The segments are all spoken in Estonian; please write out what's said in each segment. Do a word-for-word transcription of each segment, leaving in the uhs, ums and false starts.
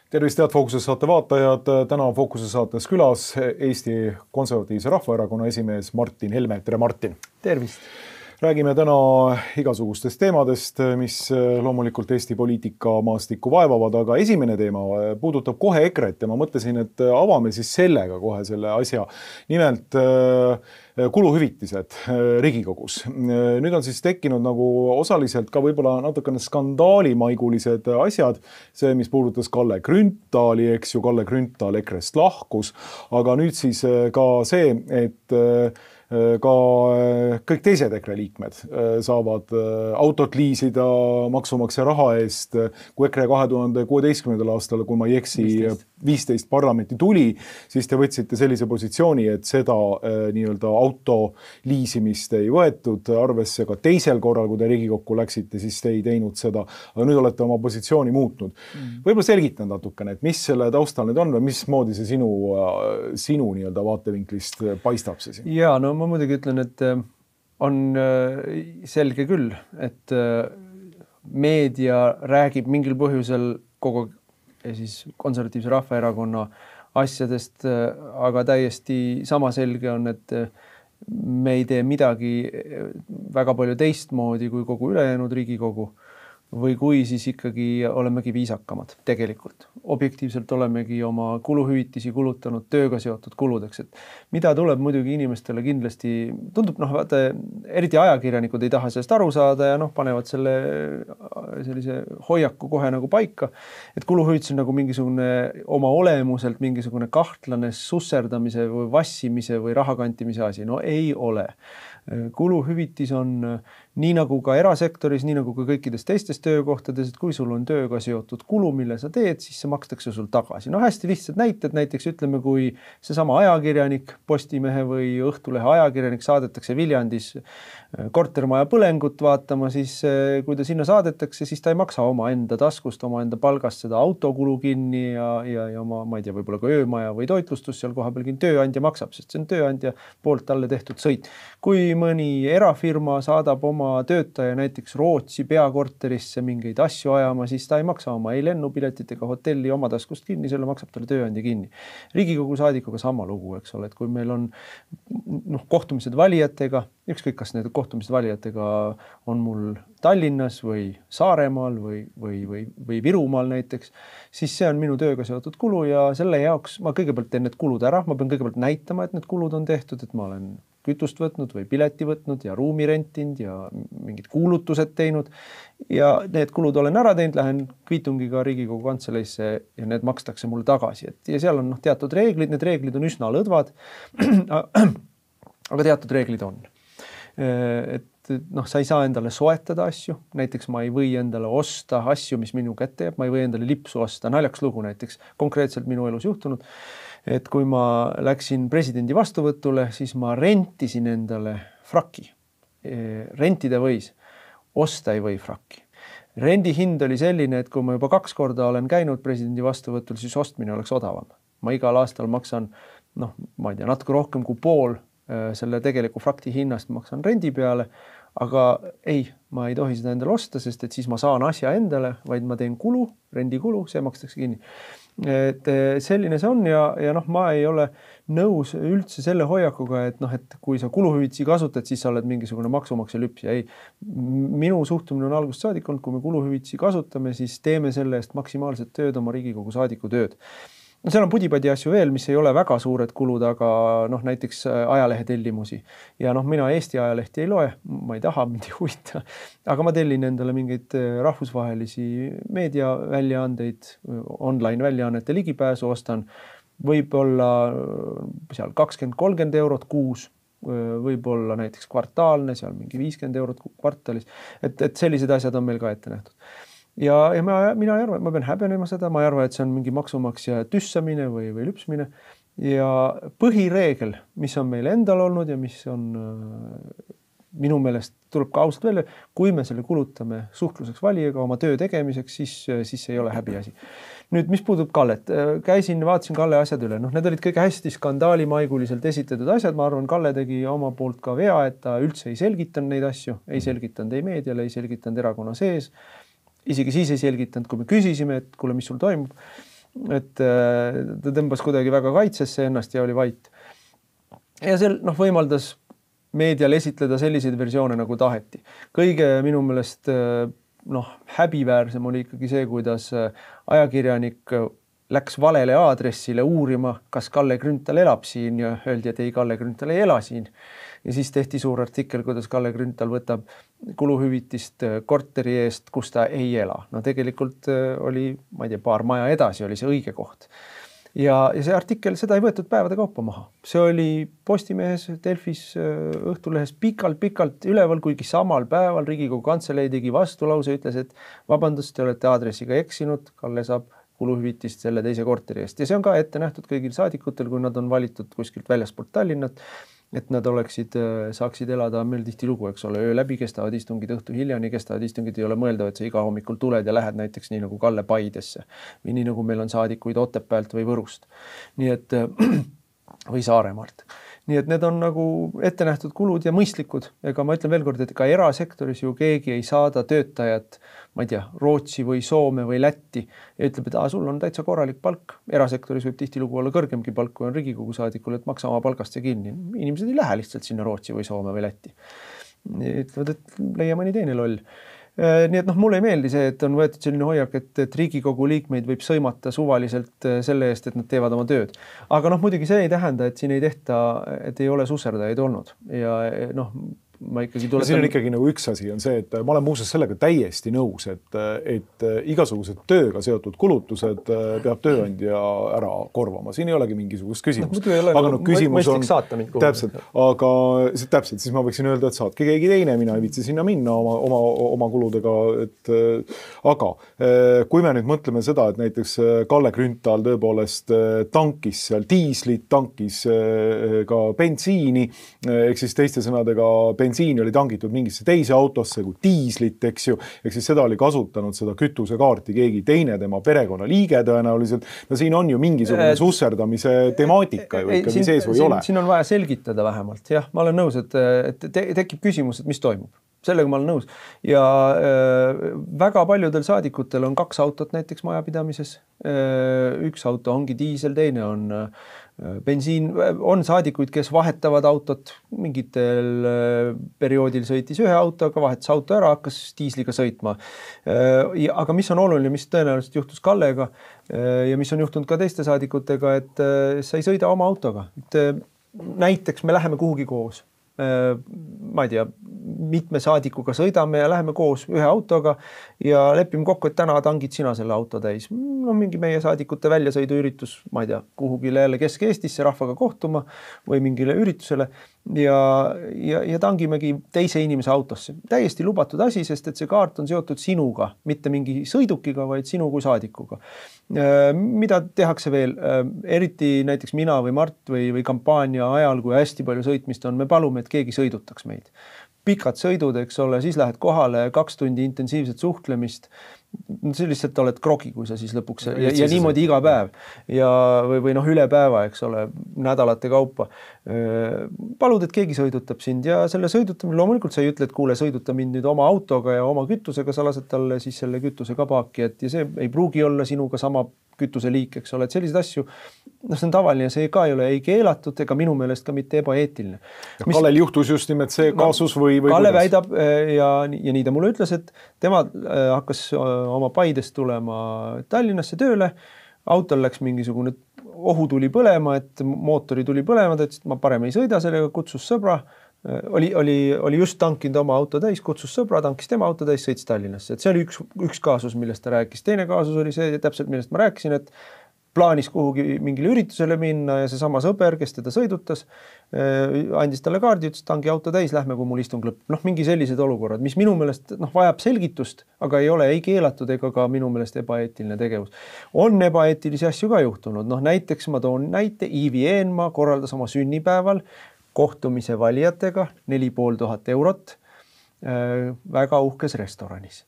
Tervist, head Fookuse saate vaatajad. Täna on Fookuse saates külas Eesti Konservatiivse Rahvaerakonna esimees Martin Helme. Tere, Martin! Tervist! Räägime täna igasugustest teemadest, mis loomulikult Eesti poliitika maastikku vaevavad, aga esimene teema puudutab kohe EKRE-t ja ma mõtlesin, et avame siis sellega kohe selle asja. Nimelt kuluhüvitised Riigikogus. Nüüd on siis tekkinud nagu osaliselt ka võib-olla natukene skandaalimaigulised asjad. See, mis puudutas Kalle Grünthali, eks ju, Kalle Grünthal EKRE-st lahkus, aga nüüd siis ka see, et ka kõik teised EKRE liikmed saavad autot liisida maksumaksja raha eest. Kui EKRE kahe tuhande kuueteistkümnendal aastal, kui ma ei eksi, viisteist parlamenti tuli, siis te võtsite sellise positsiooni, et seda nii-öelda auto liisimist ei võetud arvesse. Ka teisel korral, kui te Riigikokku läksite, siis te ei teinud seda. Aga nüüd olete oma positsiooni muutnud. Mm. Võib-olla selgitan natukene, et mis selle taustal nüüd on või mismoodi see sinu, sinu nii-öelda vaatevinklist paistab see siin? Jaa, no ma muidugi ütlen, et on selge küll, et meedia räägib mingil põhjusel kogu siis Konservatiivse Rahvaerakonna asjadest, aga täiesti sama selge on, et me ei tee midagi väga palju teistmoodi kui kogu ülejäänud Riigikogu või kui siis ikkagi olemegi viisakamad tegelikult. Objektiivselt olemegi oma kuluhüvitisi kulutanud tööga seotud kuludeks. Et mida tuleb muidugi inimestele kindlasti, tundub, noh, vaata, eriti ajakirjanikud ei taha sellest aru saada ja noh, panevad selle sellise hoiaku kohe nagu paika, et kuluhüvitis on nagu mingisugune oma olemuselt mingisugune kahtlane susserdamise või vassimise või rahakantimise asi. No ei ole. Kuluhüvitis on nii nagu ka erasektoris, nii nagu ka kõikides teistes töökohtades, et kui sul on tööga seotud kulu, mille sa teed, siis see makstakse sul tagasi. No hästi lihtsad näited, näiteks ütleme, kui seesama ajakirjanik, Postimehe või Õhtulehe ajakirjanik saadetakse Viljandis kortermaja põlengut vaatama, siis kui ta sinna saadetakse, siis ta ei maksa oma enda taskust, oma enda palgast seda autokulu kinni ja, ja, ja oma, ma ei tea, võib-olla ka öömaja või toitlustus seal koha peal tööandja maksab, sest see on tööandja poolt talle tehtud sõit. Kui mõni erafirma saadab oma töötaja näiteks Rootsi peakorterisse mingeid asju ajama, siis ta ei maksa oma ei lennupiletit ega hotelli oma taskust kinni, selle maksab talle tööandja kinni. Riigikogu saadikuga sama lugu, eks ole, et kui meil on noh, kohtumised valijatega, ükskõik kas need kohtumised valijatega on mul Tallinnas või Saaremaal või, või, või, või Virumaal näiteks, siis see on minu tööga seotud kulu ja selle jaoks ma kõigepealt teen need kulud ära, ma pean kõigepealt näitama, et need kulud on tehtud, et ma olen kütust võtnud või pileti võtnud ja ruumi rentinud ja mingid kuulutused teinud ja need kulud olen ära teinud, lähen kviitungiga Riigikogu kantseleisse ja need makstakse mulle tagasi. Et, ja seal on noh, teatud reeglid, need reeglid on üsna lõdvad, aga teatud reeglid on. Et noh, sa ei saa endale soetada asju, näiteks ma ei või endale osta asju, mis minu kätte jääb, ma ei või endale lipsu osta, naljaks lugu näiteks, konkreetselt minu elus juhtunud, et kui ma läksin presidendi vastuvõtule, siis ma rentisin endale fraki. Rentida võis, osta ei või fraki. Rendi hind oli selline, et kui ma juba kaks korda olen käinud presidendi vastuvõtul, siis ostmine oleks odavam. Ma igal aastal maksan, noh, ma ei tea, natuke rohkem kui pool selle tegeliku frakti hinnast maksan rendi peale, aga ei, ma ei tohi seda endale osta, sest et siis ma saan asja endale, vaid ma teen kulu, rendikulu, see makstakse kinni. Et selline see on ja, ja noh, ma ei ole nõus üldse selle hoiakuga, et noh, et kui sa kuluhüvitisi kasutad, siis sa oled mingisugune maksumaksja lüps ja ei. Minu suhtumine on algusest saadik olnud, kui me kuluhüvitisi kasutame, siis teeme selle eest maksimaalset tööd oma Riigikogu saadiku tööd. No seal on pudipadi asju veel, mis ei ole väga suured kulud, aga noh, näiteks ajalehe tellimusi. Ja noh, mina Eesti ajalehti ei loe, ma ei taha, mind ei huvita, aga ma tellin endale mingeid rahvusvahelisi meediaväljaandeid, online väljaannete ligipääsu ostan, võib-olla seal kakskümmend kolmkümmend eurot kuus, võib-olla näiteks kvartaalne, seal mingi viiskümmend eurot kvartalis, et, et sellised asjad on meil ka ette nähtud. Ja, ja ma, mina ei arva, et ma pean häbenema seda, ma ei arva, et see on mingi maksumaksja tüssamine või, või lüpsmine. Ja põhireegel, mis on meil endal olnud ja mis on minu meelest tuleb ka ausalt välja, kui me selle kulutame suhtluseks valijaga oma töö tegemiseks, siis, siis ei ole häbiasi. Nüüd, mis puudub Kallet, käisin, vaatasin Kalle asjad üle, noh, need olid kõige hästi skandaalimaiguliselt esitatud asjad, ma arvan, Kalle tegi oma poolt ka vea, et ta üldse ei selgitanud neid asju, ei selgitanud ei meediale, ei selgitanud erakonna sees, isegi siis ei selgitanud, kui me küsisime, et kuule, mis sul toimub. et ta tõmbas kuidagi väga kaitsesse ennast ja oli vait. Ja see noh, võimaldas meedial esitleda selliseid versioone nagu taheti. Kõige minu meelest noh, häbiväärsem oli ikkagi see, kuidas ajakirjanik läks valele aadressile uurima, kas Kalle Grünthal elab siin ja öeldi, et ei, Kalle Grünthal ei ela siin. Ja siis tehti suur artikkel, kuidas Kalle Grünthal võtab kuluhüvitist korteri eest, kus ta ei ela. No tegelikult oli, ma ei tea, paar maja edasi oli see õige koht. Ja, ja see artikkel, seda ei võetud päevade kaupa maha. See oli Postimehes, Delfis, Õhtulehes pikalt-pikalt üleval, kuigi samal päeval Riigikogu Kantselei tegi vastulause, ütles, et vabandust, te olete aadressiga eksinud, Kalle saab kuluhüvitist selle teise korteri eest. Ja see on ka ette nähtud kõigil saadikutel, kui nad on valitud kuskilt väljaspoolt Tallinnat, et nad oleksid, saaksid elada meil tihti lugu, eks ole, öö läbi kestavad istungid, õhtu hiljani kestavad istungid, ei ole mõeldav, et sa iga hommikul tuled ja lähed näiteks nii nagu Kalle Paidesse või nii nagu meil on saadikuid Otepäält või Võrust. Nii et, või Saaremaalt. Nii et need on nagu ette nähtud kulud ja mõistlikud. Ega ma ütlen veel kord, et ka erasektoris ju keegi ei saada töötajat, ma ei tea, Rootsi või Soome või Lätti ja ütleb, et ah, sul on täitsa korralik palk. Erasektoris võib tihtilugu olla kõrgemgi palk, kui on Riigikogu saadikul, et maksa oma palgast see kinni. Inimesed ei lähe lihtsalt sinna Rootsi või Soome või Lätti. Ütlevad, et leia mõni teine loll. Nii et noh, mulle ei meeldi see, et on võetud selline hoiak, et, et Riigikogu liikmeid võib sõimata suvaliselt selle eest, et nad teevad oma tööd. Aga noh, muidugi see ei tähenda, et siin ei tehta, et ei ole susserdajaid olnud. Ja noh, ma ikkagi tuletan... Siin on ikkagi nagu üks asi on see, et ma olen muuseas sellega täiesti nõus, et, et igasugused tööga seotud kulutused peab tööandja ära korvama. Siin ei olegi mingisugust küsimust. No, aga no küsimus on... Täpselt, aga täpselt, siis ma võiksin öelda, et saatke keegi teine, mina ei viitsi sinna minna oma, oma, oma kuludega. Et, aga kui me nüüd mõtleme seda, et näiteks Kalle Grünthal tõepoolest tankis seal diislit, tankis ka bensiini, ehk siis teiste sõnadega bensiini oli tangitud mingisse teise autosse kui diislit, eks ju, ehk siis seda oli kasutanud seda kütusekaarti keegi teine, tema perekonnaliige tõenäoliselt. No siin on ju mingisugune susserdamise temaatika ju ikkagi siin, sees või siin, ole. Siin on vaja selgitada vähemalt. Jah, ma olen nõus, et, et te, tekib küsimus, et mis toimub. Sellega ma olen nõus. Ja äh, väga paljudel saadikutel on kaks autot näiteks majapidamises. Äh, üks auto ongi diisel, teine on äh, bensiin. On saadikuid, kes vahetavad autot. Mingitel äh, perioodil sõitis ühe autoga, vahetas auto ära, hakkas diisliga sõitma. Äh, ja, aga mis on oluline, mis tõenäoliselt juhtus Kallega äh, ja mis on juhtunud ka teiste saadikutega, et äh, sa ei sõida oma autoga. Et, äh, näiteks me läheme kuhugi koos. Ma ei tea, mitme saadikuga sõidame ja läheme koos ühe autoga ja lepime kokku, et täna tangid sina selle auto täis. No mingi meie saadikute väljasõiduüritus, ma ei tea, kuhugile jälle Kesk-Eestisse rahvaga kohtuma või mingile üritusele ja, ja, ja tangimegi teise inimese autosse. Täiesti lubatud asi, sest et see kaart on seotud sinuga, mitte mingi sõidukiga, vaid sinu kui saadikuga. Mida tehakse veel? Eriti näiteks mina või Mart või, või kampaania ajal, kui hästi palju sõitmist on, me palume, et keegi sõidutaks meid. Pikad sõidud, eks ole, siis lähed kohale, kaks tundi intensiivset suhtlemist. See lihtsalt oled krogi, kui sa siis lõpuks ja, ja, ja niimoodi iga päev ja, või, või noh, üle päeva, eks ole, nädalate kaupa. Palud, et keegi sõidutab sind ja selle sõidutamine, loomulikult sa ei ütle, et kuule, sõiduta mind nüüd oma autoga ja oma kütusega, sa lased talle siis selle kütuse ka paaki, et ja see ei pruugi olla sinuga sama kütuse liik, eks ole, et selliseid asju, noh, see on tavaline, see ka ei ole ei keelatud ega minu meelest ka mitte ebaeetiline. Mis... Kallel juhtus just nimelt see kaasus või, või Kalle kuidas? Väidab ja, ja nii ta mulle ütles, et tema hakkas oma Paidest tulema Tallinnasse tööle, autol läks mingisugune ohu tuli põlema, et mootori tuli põlema, ta ütles, et ma parem ei sõida sellega, kutsus sõbra, oli, oli, oli just tankinud oma auto täis, kutsus sõbra, tankis tema auto täis, sõits Tallinnasse. Et see oli üks, üks kaasus, millest ta rääkis. Teine kaasus oli see täpselt, millest ma rääkisin, et plaanis kuhugi mingile üritusele minna ja see sama sõber, kes teda sõidutas, andis talle kaardi, ütles, tangi auto täis, lähme, kui mul istung lõpp. Noh, mingi sellised olukorrad, mis minu meelest noh, vajab selgitust, aga ei ole ei keelatud ega ka minu meelest ebaeetiline tegevus. On ebaeetilisi asju ka juhtunud. Noh, näiteks ma toon näite, Iivi Eenmaa korraldas oma sünnipäeval kohtumise valijatega neli pool tuhat eurot äh, väga uhkes restoranis.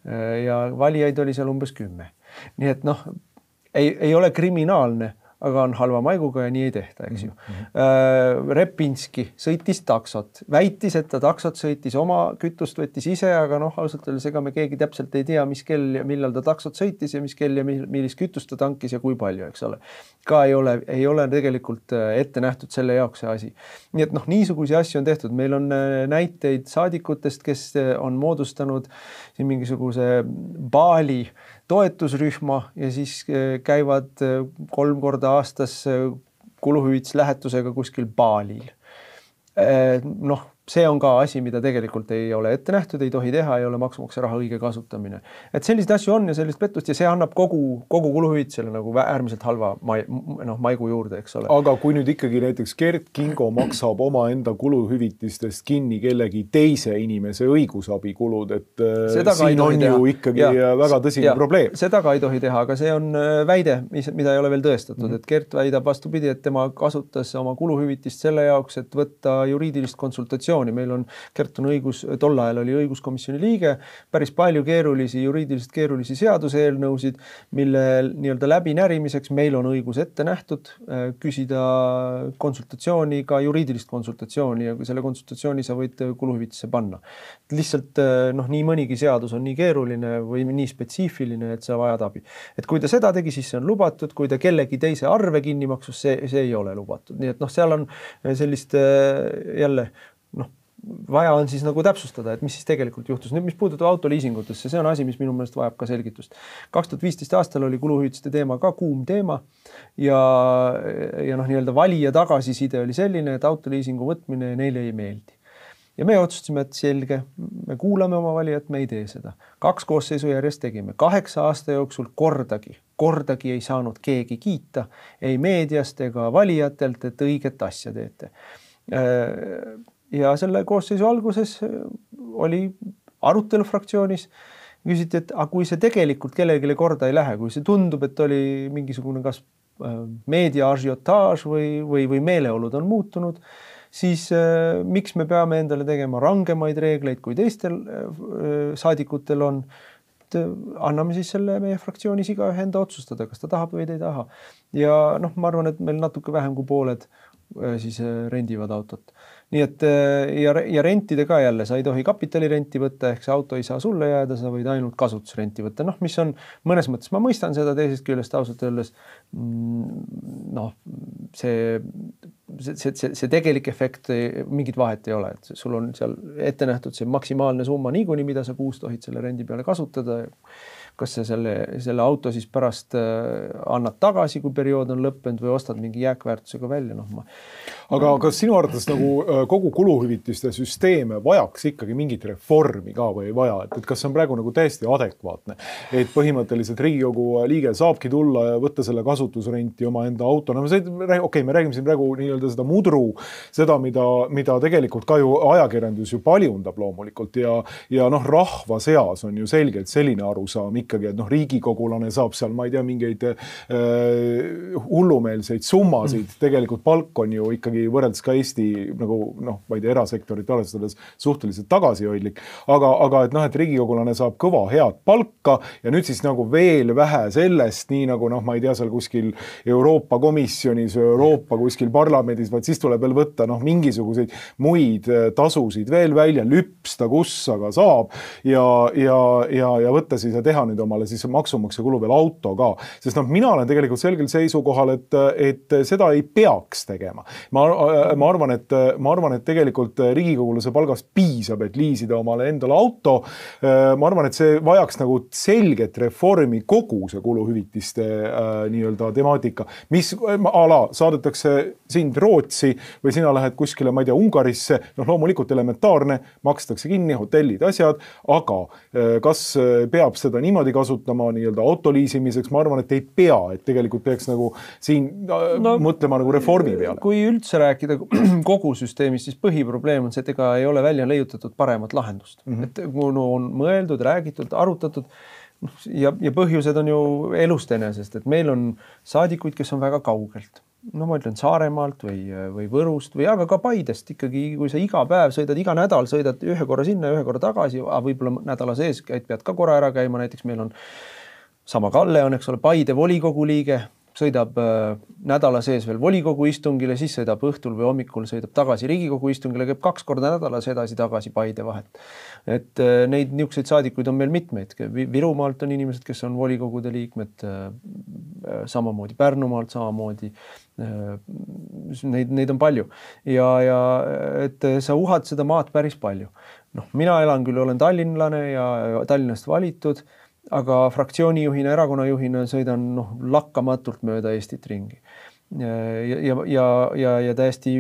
Äh, ja valijaid oli seal umbes kümme. Nii et noh, ei, ei ole kriminaalne aga on halva maiguga ja nii ei tehta, eks ju. Mm-hmm. Repinski sõitis taksot, väitis, et ta taksot sõitis oma kütust, võttis ise, aga noh, ausalt öeldes ega me keegi täpselt ei tea, mis kell ja millal ta taksot sõitis ja mis kell ja millist kütust ta tankis ja kui palju, eks ole. Ka ei ole, ei ole tegelikult ette nähtud selle jaoks see asi. Nii et noh, niisugusi asju on tehtud. Meil on näiteid saadikutest, kes on moodustanud siin mingisuguse baali toetusrühma ja siis käivad kolm korda aastas kuluhüvitis lähetusega kuskil baalil. Noh, see on ka asi, mida tegelikult ei ole ette nähtud, ei tohi teha, ei ole maksumaksja raha õige kasutamine. Et sellised asju on ja sellist pettust ja see annab kogu, kogu kuluhüvitisele nagu äärmiselt halva mai, no, maigu juurde, eks ole. Aga kui nüüd ikkagi näiteks Gert Kingo maksab oma enda kuluhüvitistest kinni kellegi teise inimese õigusabikulud, et seda siin on teha. Ju ikkagi ja, väga tõsine ja, probleem. Seda ka ei tohi teha, aga see on väide, mida ei ole veel tõestatud, mm-hmm. et Gert väidab vastupidi, et tema kasutas oma kuluhüvitist selle jaoks, et võtta juriidilist konsultatsiooni. Meil on, Gert on õigus, tol ajal oli õiguskomisjoni liige, päris palju keerulisi, juriidiliselt keerulisi seaduseelnõusid, mille nii-öelda läbinärimiseks meil on õigus ette nähtud, küsida konsultatsiooni, ka juriidilist konsultatsiooni ja selle konsultatsiooni sa võid kuluhüvitisse panna. Lihtsalt noh, nii mõnigi seadus on nii keeruline või nii spetsiifiline, et sa vajad abi. Et kui ta seda tegi, siis see on lubatud, kui ta kellegi teise arve kinni maksus, see, see ei ole lubatud. Nii et noh, seal on sellist jälle noh, vaja on siis nagu täpsustada, et mis siis tegelikult juhtus. Nüüd, mis puudutab autoliisingutesse, see on asi, mis minu meelest vajab ka selgitust. kaks tuhat viisteist aastal oli kuluhüvitiste teema ka kuum teema ja, ja noh, nii-öelda valija tagasiside oli selline, et autoliisingu võtmine neile ei meeldi. Ja me otsustasime, et selge, me kuulame oma valijat, me ei tee seda. Kaks koosseisu järjest tegime. Kaheksa aasta jooksul kordagi, kordagi ei saanud keegi kiita, ei meediast ega valijatelt, et õiget asja teete. Ja selle koosseisu alguses oli arutelu fraktsioonis, küsiti, et aga kui see tegelikult kellelegi korda ei lähe, kui see tundub, et oli mingisugune kas meedia ažiotaaž või, või, või meeleolud on muutunud, siis äh, miks me peame endale tegema rangemaid reegleid, kui teistel äh, saadikutel on, et anname siis selle meie fraktsioonis igaühe enda otsustada, kas ta tahab või ta ei taha. Ja noh, ma arvan, et meil natuke vähem kui pooled äh, siis äh, rendivad autot. Nii et ja, ja rentide ka jälle, sa ei tohi kapitalirenti võtta, ehk see auto ei saa sulle jääda, sa võid ainult kasutusrenti võtta. Noh, mis on mõnes mõttes, ma mõistan seda teisest küljest ausalt öeldes, noh, see, see, see, see tegelik efekt mingit vahet ei ole, et sul on seal ette nähtud see maksimaalne summa niikuinii, mida sa kuus tohid selle rendi peale kasutada. Kas sa selle, selle auto siis pärast annad tagasi, kui periood on lõppenud või ostad mingi jääkväärtusega välja. No, ma... Aga kas sinu arvates nagu kogu kuluhüvitiste süsteeme vajaks ikkagi mingit reformi ka või ei vaja? Et, et kas see on praegu nagu täiesti adekvaatne? Et põhimõtteliselt Riigikogu liige saabki tulla ja võtta selle kasutusrenti oma enda auto. No, okei, okay, me räägime siin praegu nii-öelda seda mudru, seda, mida, mida tegelikult ka ju ajakirjandus ju paljundab loomulikult ja, ja noh, rahva seas on ju selgelt selline arusaam ikkagi, et noh, riigikogulane saab seal, ma ei tea, mingeid äh, hullumeelseid summasid. Tegelikult palk on ju ikkagi võrreldes ka Eesti nagu noh, ma ei tea, erasektorit arvestades suhteliselt tagasihoidlik, aga, aga et noh, et riigikogulane saab kõva head palka ja nüüd siis nagu veel vähe sellest, nii nagu noh, ma ei tea, seal kuskil Euroopa komisjonis, Euroopa kuskil parlamendis, vaid siis tuleb veel võtta noh, mingisuguseid muid tasusid veel välja, lüpsta, kus aga saab ja, ja, ja, ja võtta siis ja teha nüüd omale siis maksumaksja kulu veel auto ka, sest noh, mina olen tegelikult selgel seisukohal, et, et seda ei peaks tegema. Ma ma arvan, et, ma arvan, et tegelikult riigikogulase palgast piisab, et liisida omale endale auto. Ma arvan, et see vajaks nagu selget reformi kogu see kuluhüvitiste äh, nii-öelda temaatika, mis ala saadetakse sind Rootsi või sina lähed kuskile, ma ei tea, Ungarisse, noh loomulikult elementaarne, makstakse kinni hotellid, asjad, aga äh, kas peab seda niimoodi kasutama nii-öelda autoliisimiseks, ma arvan, et ei pea, et tegelikult peaks nagu siin äh, no, mõtlema nagu reformi peale. Kui üldse rääkida kogu süsteemist, siis põhiprobleem on see, et ega ei ole välja leiutatud paremat lahendust. Mm-hmm. Et kuna on mõeldud, räägitud, arutatud ja, ja põhjused on ju elust enesest, et meil on saadikuid, kes on väga kaugelt. No ma ütlen Saaremaalt või, või Võrust või aga ka Paidest ikkagi, kui sa iga päev sõidad, iga nädal sõidad ühe korra sinna, ühe korra tagasi, võib-olla nädala sees pead ka korra ära käima, näiteks meil on sama Kalle on, eks ole, Paide volikogu liige, sõidab äh, nädala sees veel volikogu istungile, siis sõidab õhtul või hommikul sõidab tagasi Riigikogu istungile, käib kaks korda nädalas edasi-tagasi Paide vahet. Et äh, neid niisuguseid saadikuid on meil mitmeid. Virumaalt on inimesed, kes on volikogude liikmed, äh, samamoodi Pärnumaalt, samamoodi äh, neid, neid on palju. Ja, ja et sa uhad seda maad päris palju. Noh, mina elan küll, olen tallinlane ja Tallinnast valitud, aga fraktsioonijuhina, erakonnajuhina sõidan noh, lakkamatult mööda Eestit ringi. Ja, ja, ja, ja, ja täiesti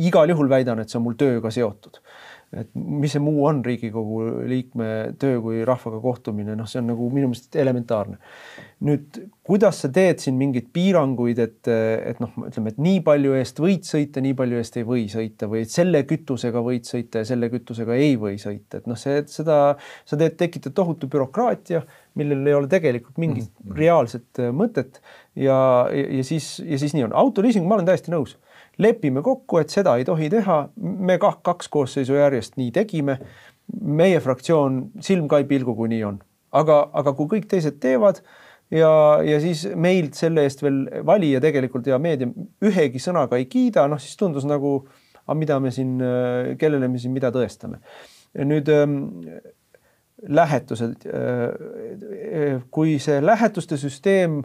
igal juhul väidan, et see on mul tööga seotud. Et mis see muu on Riigikogu liikme töö kui rahvaga kohtumine, noh see on nagu minu meelest elementaarne. Nüüd, kuidas sa teed siin mingid piiranguid, et, et noh, ütleme, et nii palju eest võid sõita, nii palju eest ei või sõita või et selle kütusega võid sõita ja selle kütusega ei või sõita. Et noh, see, seda, sa teed, tekitad tohutu bürokraatia, millel ei ole tegelikult mingit mm-hmm. reaalset mõtet ja, ja, ja, siis, ja siis nii on. Autoliising, ma olen täiesti nõus. Lepime kokku, et seda ei tohi teha. Me kaks koosseisu järjest nii tegime. Meie fraktsioon silm ka ei pilgu, kui nii on. Aga, aga kui kõik teised teevad ja, ja siis meilt selle eest veel valija tegelikult ja meedia ühegi sõnaga ei kiida, noh siis tundus nagu, mida me siin, kellele me siin mida tõestame. Ja nüüd ähm, lähetused. Äh, kui see lähetuste süsteem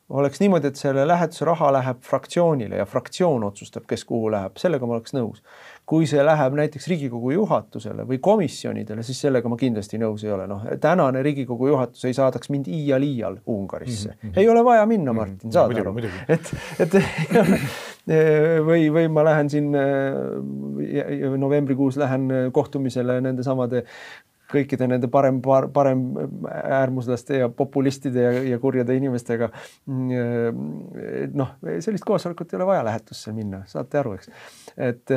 oleks niimoodi, et selle lähetuse raha läheb fraktsioonile ja fraktsioon otsustab, kes kuhu läheb, sellega ma oleks nõus. Kui see läheb näiteks Riigikogu juhatusele või komisjonidele, siis sellega ma kindlasti nõus ei ole. Noh, tänane Riigikogu juhatus ei saadaks mind iial iial Ungarisse. Mm-hmm. Ei ole vaja minna, Martin, saad aru. Et, et, või, või ma lähen siin novembrikuus lähen kohtumisele nende samade kõikide nende parem, parem äärmuslaste ja populistide ja, ja kurjade inimestega. Noh, sellist koosolekut ei ole vaja lähetusse minna, saate aru, eks. Et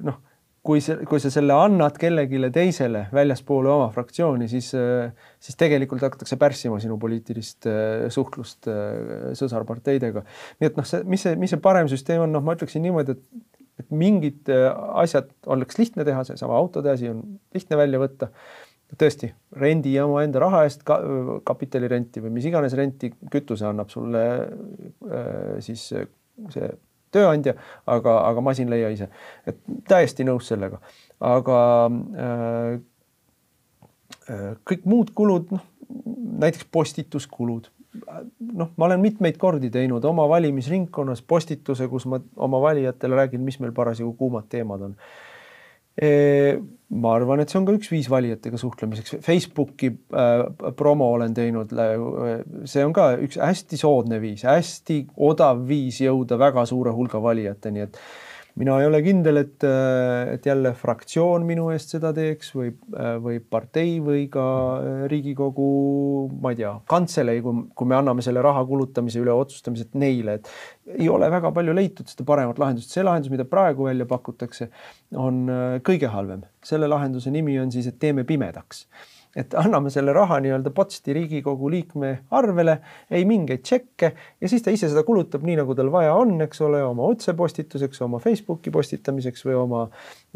noh, kui, see, kui sa selle annad kellegile teisele väljaspoole oma fraktsiooni, siis, siis tegelikult hakatakse pärssima sinu poliitilist suhtlust sõsarparteidega. Nii et noh, see, mis, see, mis see parem süsteem on, noh, ma ütleksin niimoodi, et et mingid asjad oleks lihtne teha, see sama autode asi on lihtne välja võtta. Tõesti, rendi ja oma enda raha eest ka, kapitalirenti või mis iganes renti kütuse annab sulle siis see tööandja, aga, aga masin leia ise. Et täiesti nõus sellega. Aga äh, kõik muud kulud, noh, näiteks postituskulud, noh, ma olen mitmeid kordi teinud oma valimisringkonnas postituse, kus ma oma valijatele räägin, mis meil parasjagu kuumad teemad on. E, ma arvan, et see on ka üks viis valijatega suhtlemiseks. Facebooki äh, promo olen teinud. See on ka üks hästi soodne viis, hästi odav viis jõuda väga suure hulga valijateni, et mina ei ole kindel, et, et jälle fraktsioon minu eest seda teeks või, või partei või ka Riigikogu, ma ei tea, kantselei, kui, kui me anname selle raha kulutamise üle otsustamised neile, et ei ole väga palju leitud seda paremat lahendust. See lahendus, mida praegu välja pakutakse, on kõige halvem. Selle lahenduse nimi on siis, et teeme pimedaks. Et anname selle raha nii-öelda potsti Riigikogu liikme arvele, ei mingeid tšekke ja siis ta ise seda kulutab nii, nagu tal vaja on, eks ole, oma otsepostituseks, oma Facebooki postitamiseks või oma,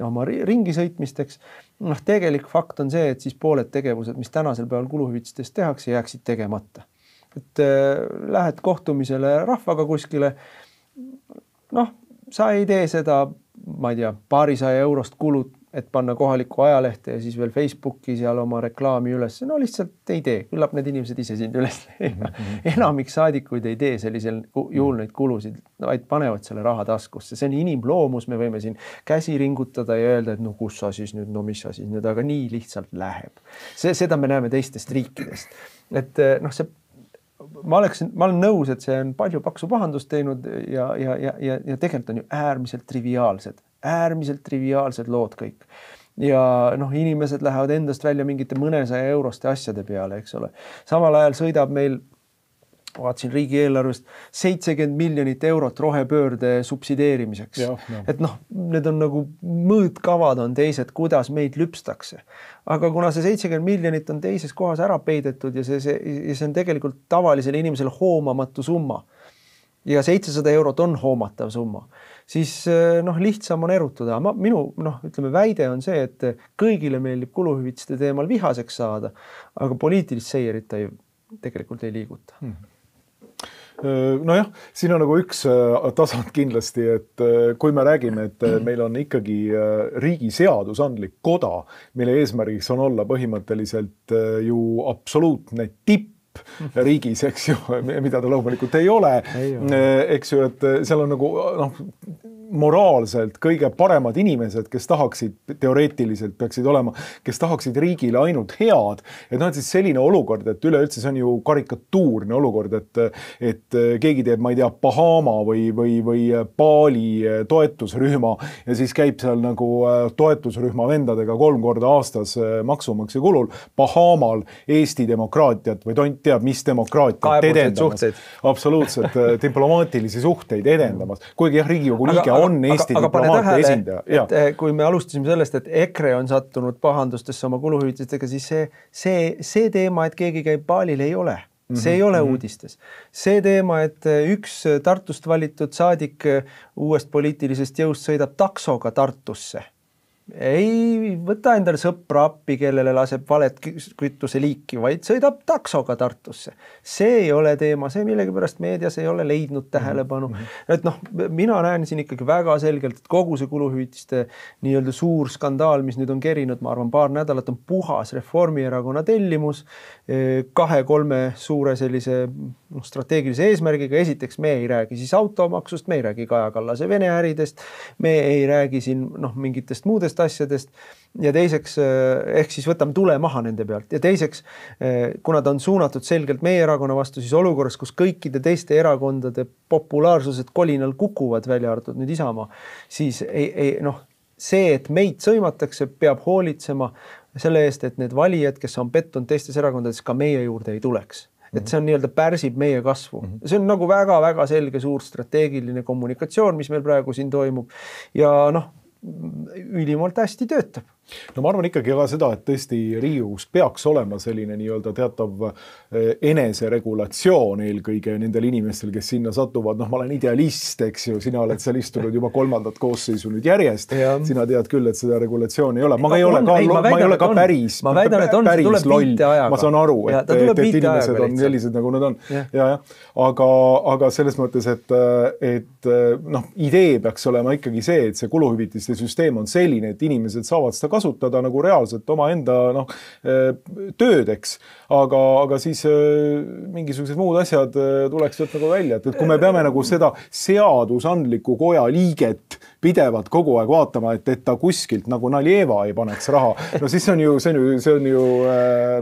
oma ringi sõitmisteks. Noh, tegelik fakt on see, et siis pooled tegevused, mis tänasel päeval kuluhüvitistest tehakse, jääksid tegemata. Et äh, lähed kohtumisele rahvaga kuskile, noh, sa ei tee seda, ma ei tea, paarisaja eurost kulut, et panna kohaliku ajalehte ja siis veel Facebooki seal oma reklaami üles. No lihtsalt ei tee. Küllap need inimesed ise sind üles leida. Enamik saadikuid ei tee sellisel juhul neid kulusid, vaid panevad selle raha taskusse. See on inimloomus, me võime siin käsi ringutada ja öelda, et no kus sa siis nüüd, no mis sa siis nüüd, aga nii lihtsalt läheb. See, seda me näeme teistest riikidest. Et noh, see ma, oleks, ma olen nõus, et see on palju paksu pahandust teinud ja, ja, ja, ja, ja tegelikult on ju äärmiselt triviaalsed. äärmiselt triviaalsed lood kõik. Ja noh, inimesed lähevad endast välja mingite mõnesaja euroste asjade peale, eks ole. Samal ajal sõidab meil, vaatasin riigieelarvest, seitsekümmend miljonit eurot rohepöörde subsideerimiseks. Ja, ja. Et noh, need on nagu mõõtkavad on teised, kuidas meid lüpstakse. Aga kuna see seitsekümmend miljonit on teises kohas ära peidetud ja see, see, see on tegelikult tavalisele inimesele hoomamatu summa ja seitsesada eurot on hoomatav summa, siis noh, lihtsam on erutuda. Ma, minu noh, ütleme, väide on see, et kõigile meeldib kuluhüvitiste teemal vihaseks saada, aga poliitilist seierit ta ju tegelikult ei liiguta. Hmm. Nojah, siin on nagu üks tasand kindlasti, et kui me räägime, et meil on ikkagi riigi seadusandlik koda, mille eesmärgiks on olla põhimõtteliselt ju absoluutne tipp riigis, eks ju, mida ta loomulikult ei ole, ei ole. Eks ju, et seal on nagu noh, moraalselt kõige paremad inimesed, kes tahaksid teoreetiliselt peaksid olema, kes tahaksid riigile ainult head. Et noh, et siis selline olukord, et üleüldse see on ju karikatuurne olukord, et, et keegi teeb, ma ei tea, Bahama või, või, või Bali toetusrühma ja siis käib seal nagu toetusrühma vendadega kolm korda aastas maksumaksja kulul Bahamal Eesti demokraatiat või tont teab, mis demokraatiat edendamas. Absoluutselt diplomaatilisi suhteid edendamas. Kuigi jah, Riigikogu liige on Eesti aga, aga diplomaatia esindaja. Et, et, kui me alustasime sellest, et EKRE on sattunud pahandustesse oma kuluhüvitistega, siis see, see, see teema, et keegi käib Balil, ei ole. See mm-hmm. ei ole uudistes. See teema, et üks Tartust valitud saadik uuest poliitilisest jõust sõidab taksoga Tartusse. Ei võta endale sõpra appi, kellele laseb valet kütuse liiki, vaid sõidab taksoga Tartusse. See ei ole teema, see millegipärast meedias ei ole leidnud tähelepanu. Mm-hmm. Et noh, mina näen siin ikkagi väga selgelt, et kogu see kuluhüvitiste nii-öelda suur skandaal, mis nüüd on kerinud, ma arvan, paar nädalat on puhas Reformierakonna tellimus kahe-kolme suure sellise noh, strateegilise eesmärgiga. Esiteks me ei räägi siis automaksust, me ei räägi Kaja Kallase Vene äridest, me ei räägi siin noh, mingitest muudest asjadest ja teiseks ehk siis võtame tule maha nende pealt ja teiseks, kuna ta on suunatud selgelt meie erakonna vastu, siis olukorras, kus kõikide teiste erakondade populaarsused kolinal kukuvad välja arvatud nüüd Isamaa, siis ei, ei, noh, see, et meid sõimatakse, peab hoolitsema selle eest, et need valijad, kes on pettunud teistes erakondades, ka meie juurde ei tuleks. Et see on nii-öelda pärsib meie kasvu. See on nagu väga-väga selge suur strateegiline kommunikatsioon, mis meil praegu siin toimub ja noh, ülimalt hästi töötab. No ma arvan ikkagi ka seda, et tõesti Riigikogus peaks olema selline nii-öelda teatav eneseregulatsioon eelkõige nendel inimestel, kes sinna satuvad. Noh, ma olen idealist, eks ju, sina oled seal istunud juba kolmandat koosseisu nüüd järjest. Ja. Sina tead küll, et seda regulatsiooni ei ole. Ma ei ole ka, ei, ma väidan, ma ei ole ka on, päris, ma väidan, et on, päris tuleb loll. Ma saan aru, et, et, et inimesed on sellised, nagu nad on. Ja. Ja, ja. Aga, aga selles mõttes, et, et noh, idee peaks olema ikkagi see, et see kuluhüvitiste süsteem on selline, et inimesed saavad seda kasutada nagu reaalselt oma enda noh, töödeks, aga, aga siis mingisugused muud asjad tuleks sealt nagu välja, et, et kui me peame nagu seda seadusandliku koja liiget pidevalt kogu aeg vaatama, et, et ta kuskilt nagu Naljeva ei paneks raha, no siis on ju, see on ju, see on ju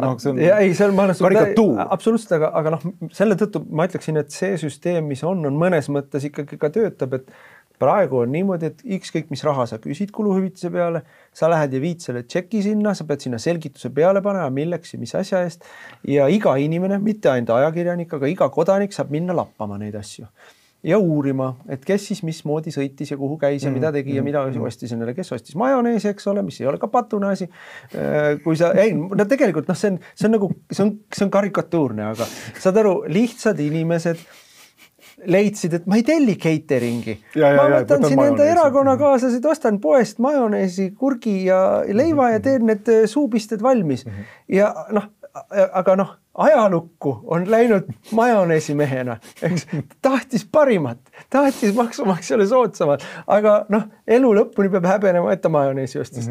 noh, see on ja, ei, see on, ma karikatuur. Absoluutselt, aga, aga noh, selle tõttu ma ütleksin, et see süsteem, mis on, on mõnes mõttes ikkagi ka töötab, et praegu on niimoodi, et ükskõik mis raha sa küsid kuluhüvitise peale, sa lähed ja viid selle tšeki sinna, sa pead sinna selgituse peale panema, milleks ja mis asja eest ja iga inimene, mitte ainult ajakirjanik, aga iga kodanik saab minna lappama neid asju ja uurima, et kes siis mismoodi sõitis ja kuhu käis ja mida tegi ja mida ostis endale, kes ostis majoneesi, eks ole, mis ei ole ka patune asi. Kui sa, ei, no tegelikult noh, see on, see on nagu, see on, see on karikatuurne, aga saad aru, lihtsad inimesed leidsid, et ma ei telli cateringi. Ja, ja, ma võtan siin enda erakonnakaaslased, ostan poest majoneesi, kurgi ja leiva ja teen need suupisted valmis. Ja noh, aga noh, ajalukku on läinud majoneesi mehena, eks, tahtis parimat, tahtis maksumaksjale soodsamat, aga noh, elu lõpuni peab häbenema, et ta majoneesi ostis.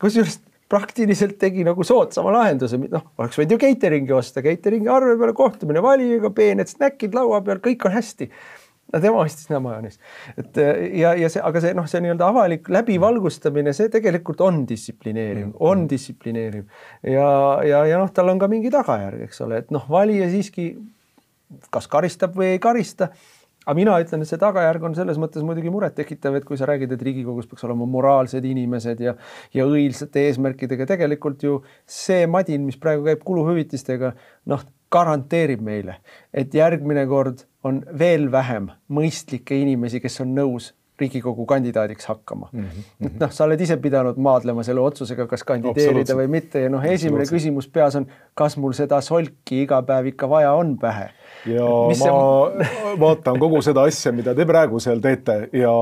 Kusjuures praktiliselt tegi nagu soodsama lahenduse, noh, oleks võid ju cateringi osta, cateringi arve peale kohtumine valijaga, peened snäkid laua peal, kõik on hästi. No tema ostis näe majonees. Et, ja, ja see, aga see, noh, see nii-öelda avalik läbivalgustamine, see tegelikult on distsiplineeriv, on distsiplineeriv. Ja, ja, ja noh, tal on ka mingi tagajärg, eks ole, et noh, valija siiski kas karistab või ei karista. Aga mina ütlen, et see tagajärg on selles mõttes muidugi muret tekitav, et kui sa räägid, et Riigikogus peaks olema moraalsed inimesed ja, ja õilsate eesmärkidega, tegelikult ju see madin, mis praegu käib kuluhüvitistega, noh, garanteerib meile, et järgmine kord on veel vähem mõistlikke inimesi, kes on nõus Riigikogu kandidaadiks hakkama. Mm-hmm. No, sa oled ise pidanud maadlema selle otsusega, kas kandideerida või mitte. Ja noh, esimene küsimus peas on, kas mul seda solki iga päev ikka vaja on pähe. Ja mis ma see... vaatan kogu seda asja, mida te praegu seal teete ja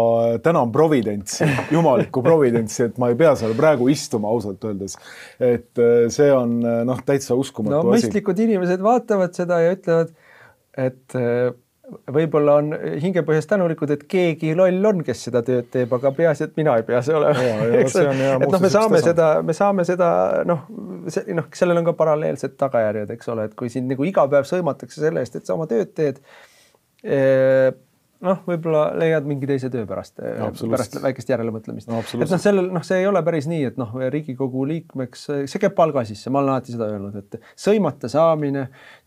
tänan providentsi, jumalikku providentsi, et ma ei pea seal praegu istuma ausalt öeldes. Et see on noh, täitsa uskumatu no, asi. Mõistlikud inimesed vaatavad seda ja ütlevad, et võib-olla on hingepõhjas tänulikud, et keegi loll on, kes seda tööd teeb, aga peaasi, et mina ei pea see olema. et noh, me saame seda, me saame seda, noh, noh, sellel on ka paralleelsed tagajärjed, eks ole, et kui siin nagu iga päev sõimatakse selle eest, et sa oma tööd teed, noh, võib-olla leiad mingi teise töö pärast, pärast väikest järelemõtlemist. No, et noh, sellel, noh, see ei ole päris nii, et noh, Riigikogu liikmeks, see käib palga sisse, ma olen alati seda öelnud, et sõimata saamine,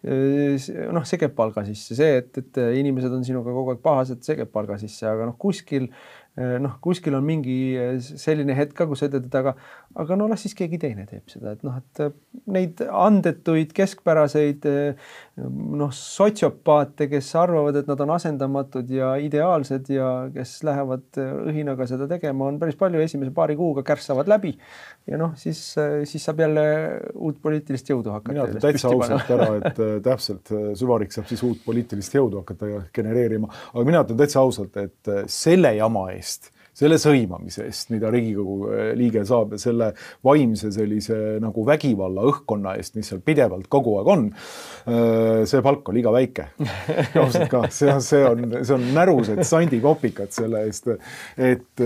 noh, see käib palga sisse, see, et, et inimesed on sinuga kogu aeg pahased, see käib palga sisse, aga noh, kuskil, noh, kuskil on mingi selline hetk ka, kus ütled, aga, aga no las siis keegi teine teeb seda, et noh, et neid andetuid, keskpäraseid, noh, sotsiopaate, kes arvavad, et nad on asendamatud ja ideaalsed ja kes lähevad õhinaga seda tegema, on päris palju esimese paari kuuga kärssavad läbi ja noh, siis, siis saab jälle uut poliitilist jõudu hakata. Mina ütlen täitsa ausalt ära, et täpselt Süvarik saab siis uut poliitilist jõudu hakata genereerima, aga mina ütlen täitsa ausalt, et selle jama eest, selle sõimamise eest, mida Riigikogu liige saab ja selle vaimse sellise nagu vägivalla õhkkonna eest, mis seal pidevalt kogu aeg on, see palk on liiga väike. Ausalt ka, see on, see on, see on närused sandikopikad selle eest, et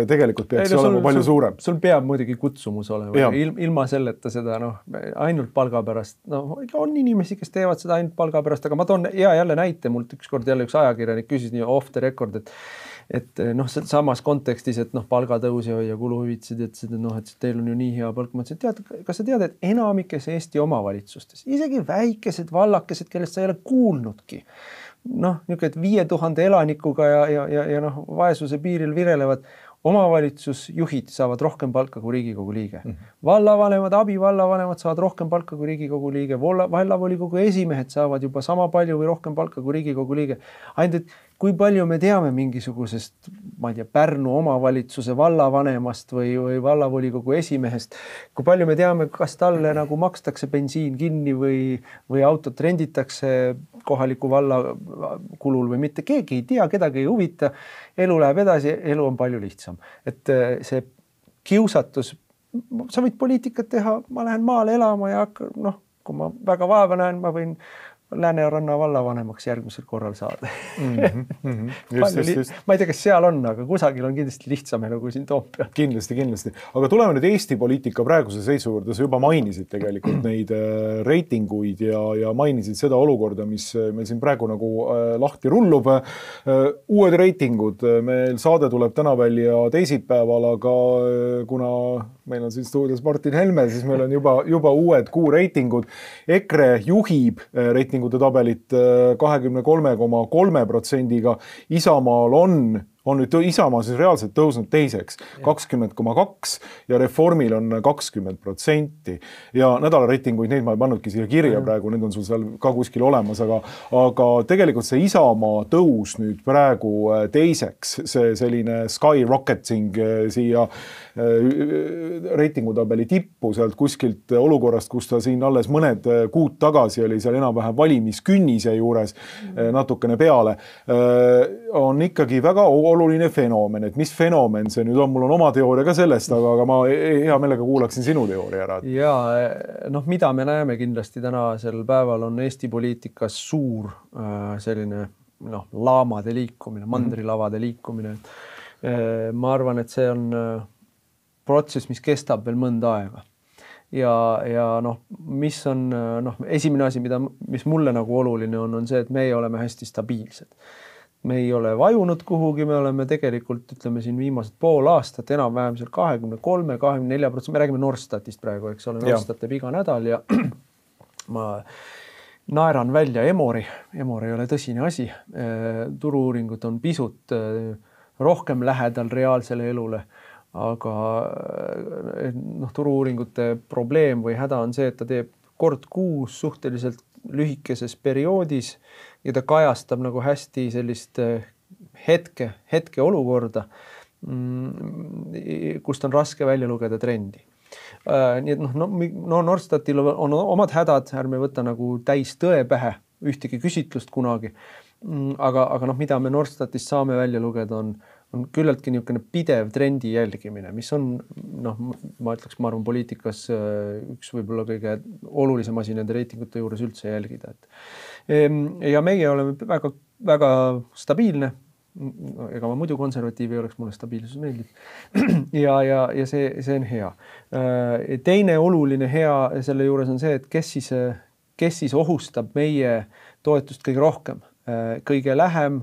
tegelikult peaks Ei, no, olema sul, palju sul, suurem. Sul peab muidugi kutsumus olema, Il, ilma selleta seda, noh, ainult palga pärast, noh, on inimesi, kes teevad seda ainult palga pärast, aga ma toon hea jälle näite, mult ükskord jälle üks ajakirjanik küsis nii off the record, et et noh, samas kontekstis, et noh, palgatõus ja, ja kuluhüvitised, et seda, noh, et teil on ju nii hea palk. Ma ütlesin, tead, kas sa tead, et enamikes Eesti omavalitsustes, isegi väikesed vallakesed, kellest sa ei ole kuulnudki, noh, niisugune, et viie tuhande elanikuga ja, ja, ja, ja noh, vaesuse piiril virelevad, omavalitsusjuhid saavad rohkem palka kui Riigikogu liige. Mm-hmm. Vallavanemad, abivallavanemad saavad rohkem palka kui Riigikogu liige. Vallavolikogu esimehed saavad juba sama palju või rohkem palka kui Riigikogu liige. Ainult, et kui palju me teame mingisugusest, ma ei tea, Pärnu omavalitsuse vallavanemast või, või vallavolikogu esimehest, kui palju me teame, kas talle nagu makstakse bensiin kinni või, või autot renditakse kohaliku valla kulul või mitte. Keegi ei tea, kedagi ei huvita. Elu läheb edasi, elu on palju lihtsam. Et see kiusatus, sa võid poliitikat teha, ma lähen maale elama ja noh, kui ma väga vaeva näen, ma võin Lääneranna vallavanemaks järgmisel korral saada. Mm-hmm, mm-hmm. Just, just, just. Ma ei tea, kas seal on, aga kusagil on kindlasti lihtsam elu kui siin Toompeal. Kindlasti, kindlasti. Aga tuleme nüüd Eesti poliitika praeguse seisu juurde. Sa juba mainisid tegelikult neid reitinguid ja, ja mainisid seda olukorda, mis meil siin praegu nagu lahti rullub. Uued reitingud. Meil saade tuleb täna välja teisipäeval, aga kuna meil on siin stuudios Martin Helme, siis meil on juba, juba uued kuu reitingud. EKRE juhib reitingud tabelit kahekümne kolme koma kolme protsendiga. Isamaal on, on nüüd Isamaa siis reaalselt tõusnud teiseks kakskümmend koma kaks ja Reformil on kakskümmend protsenti. Ja nädala reitinguid, neid ma ei pannudki siia kirja praegu, need on sul seal ka kuskil olemas, aga, aga tegelikult see Isamaa tõus nüüd praegu teiseks, see selline skyrocketing siia reitingutabeli tippu sealt kuskilt olukorrast, kus ta siin alles mõned kuud tagasi oli seal enam-vähem valimiskünnise juures natukene peale, on ikkagi väga oluline fenomen, et mis fenomen see nüüd on, mul on oma teooria ka sellest, aga, aga ma hea meelega kuulaksin sinu teooria ära. Ja noh, mida me näeme kindlasti tänasel päeval on Eesti poliitikas suur selline noh, laamade liikumine, mandrilavade liikumine. Ma arvan, et see on protsess, mis kestab veel mõnda aega. Ja, ja noh, mis on noh, esimene asi, mida, mis mulle nagu oluline on, on see, et meie oleme hästi stabiilsed. Me ei ole vajunud kuhugi, me oleme tegelikult, ütleme siin viimased pool aastat, enam-vähem seal kahekümne kolme, kahekümne nelja protsenti, me räägime Norstatist praegu, eks ole, Norstat teeb iga nädal ja ma naeran välja Emori, Emor ei ole tõsine asi, turu-uuringud on pisut rohkem lähedal reaalsele elule, aga noh, turu-uuringute probleem või häda on see, et ta teeb kord kuus suhteliselt lühikeses perioodis ja ta kajastab nagu hästi sellist hetke, hetke olukorda, kust on raske välja lugeda trendi. Nii et noh, no, no Norstatil on omad hädad, ärme võtta nagu täis tõe pähe ühtegi küsitlust kunagi, aga, aga noh, mida me Norstatist saame välja lugeda on, on küllaltki niisugune pidev trendi jälgimine, mis on, noh, ma ütleks, ma arvan, poliitikas üks võib-olla kõige olulisem asi nende reitingute juures üldse jälgida. Ja meie oleme väga, väga stabiilne, ega ma muidu konservatiiv ei oleks, mulle stabiilsus meeldib. Ja, ja, ja see, see on hea. Teine oluline hea selle juures on see, et kes siis, kes siis ohustab meie toetust kõige rohkem. Kõige lähem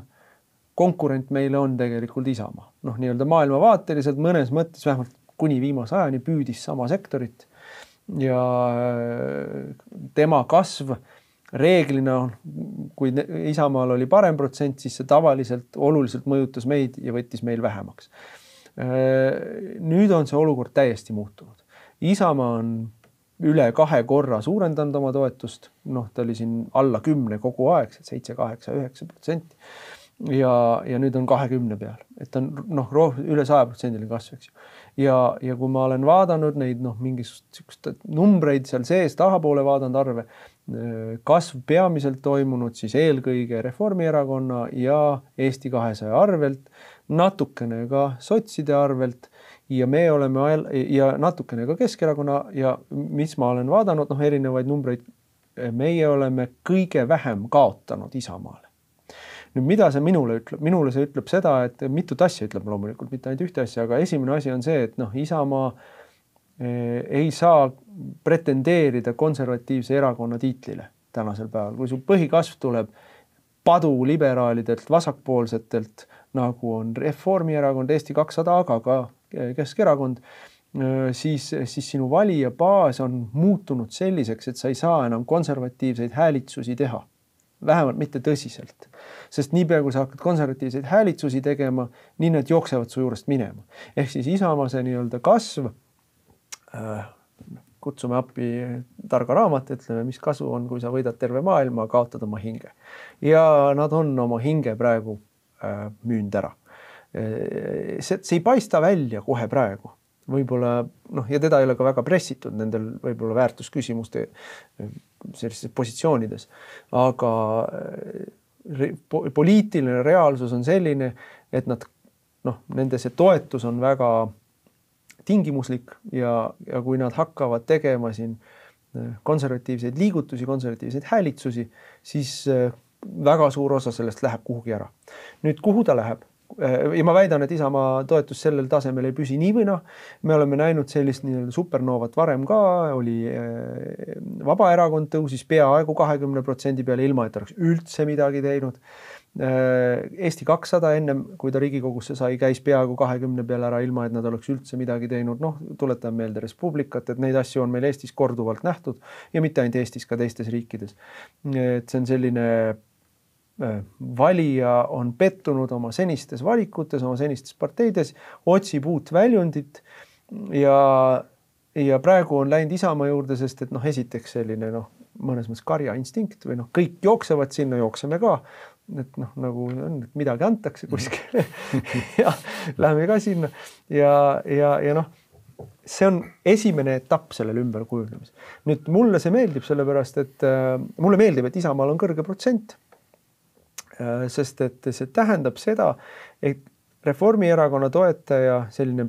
konkurent meile on tegelikult Isamaa. Noh, nii-öelda maailmavaateliselt mõnes mõttes vähemalt kuni viimase ajani püüdis sama sektorit ja tema kasv reeglina, kui Isamaal oli parem protsent, siis see tavaliselt oluliselt mõjutas meid ja võttis meil vähemaks. Nüüd on see olukord täiesti muutunud. Isamaa on üle kahe korra suurendanud oma toetust, noh, ta oli siin alla kümne kogu aeg, seitse, kaheksa, üheksa protsenti. Ja, ja nüüd on kahekümne peal, et on noh, üle saja protsendiline kasv, eks ju. Ja, ja kui ma olen vaadanud neid noh, mingisugust numbreid seal sees, tahapoole vaadanud arve, kasv peamiselt toimunud siis eelkõige Reformierakonna ja Eesti kahesaja arvelt, natukene ka sotside arvelt ja me oleme ja natukene ka Keskerakonna ja mis ma olen vaadanud, noh, erinevaid numbreid, meie oleme kõige vähem kaotanud Isamaale. Nüüd, mida see minule ütleb? Minule see ütleb seda, et mitut asja ütleb loomulikult, mitte ainult ühte asja, aga esimene asi on see, et noh, Isamaa ei saa pretendeerida konservatiivse erakonna tiitlile tänasel päeval. Kui su põhikasv tuleb padu liberaalidelt, vasakpoolsetelt, nagu on Reformierakond, Eesti kakssada, aga ka Keskerakond, siis, siis sinu valija baas on muutunud selliseks, et sa ei saa enam konservatiivseid häälitsusi teha. Vähemalt mitte tõsiselt. Sest niipea, kui sa hakkad konservatiivseid häälitsusi tegema, nii need jooksevad su juurest minema. Ehk siis Isamaa see nii-öelda kasv, äh, kutsume appi targa raamat, ütleme, mis kasu on, kui sa võidad terve maailma, kaotad oma hinge. Ja nad on oma hinge praegu äh, müünd ära. See, see ei paista välja kohe praegu. Võib-olla, noh, ja teda ei ole ka väga pressitud nendel võib-olla väärtusküsimuste sellistes positsioonides, aga poliitiline reaalsus on selline, et nad, noh, nende see toetus on väga tingimuslik ja, ja kui nad hakkavad tegema siin konservatiivseid liigutusi, konservatiivseid häälitsusi, siis väga suur osa sellest läheb kuhugi ära. Nüüd, kuhu ta läheb? Ja ma väidan, et Isamaa toetus sellel tasemel ei püsi nii või noh. Me oleme näinud sellist nii-öelda supernoovat varem ka, oli Vabaerakond tõusis peaaegu kahekümne protsendi peale ilma, et oleks üldse midagi teinud. Eesti kakssada ennem, kui ta Riigikogusse sai, käis peaaegu kahekümne peale ära ilma, et nad oleks üldse midagi teinud. Noh, tuletan meelde Respublikat, et neid asju on meil Eestis korduvalt nähtud ja mitte ainult Eestis, ka teistes riikides. Et see on selline valija on pettunud oma senistes valikutes, oma senistes parteides, otsib uut väljundit ja, ja praegu on läinud Isamaa juurde, sest et noh, esiteks selline noh, mõnes mõttes karja instinkt või noh, kõik jooksevad sinna, jookseme ka, et noh, nagu on, et midagi antakse kuskile ja läheme ka sinna ja, ja, ja noh, see on esimene etapp sellel ümber kujunemis. Nüüd mulle see meeldib sellepärast, et äh, mulle meeldib, et Isamaal on kõrge protsent, sest et see tähendab seda, et Reformierakonna toetaja, selline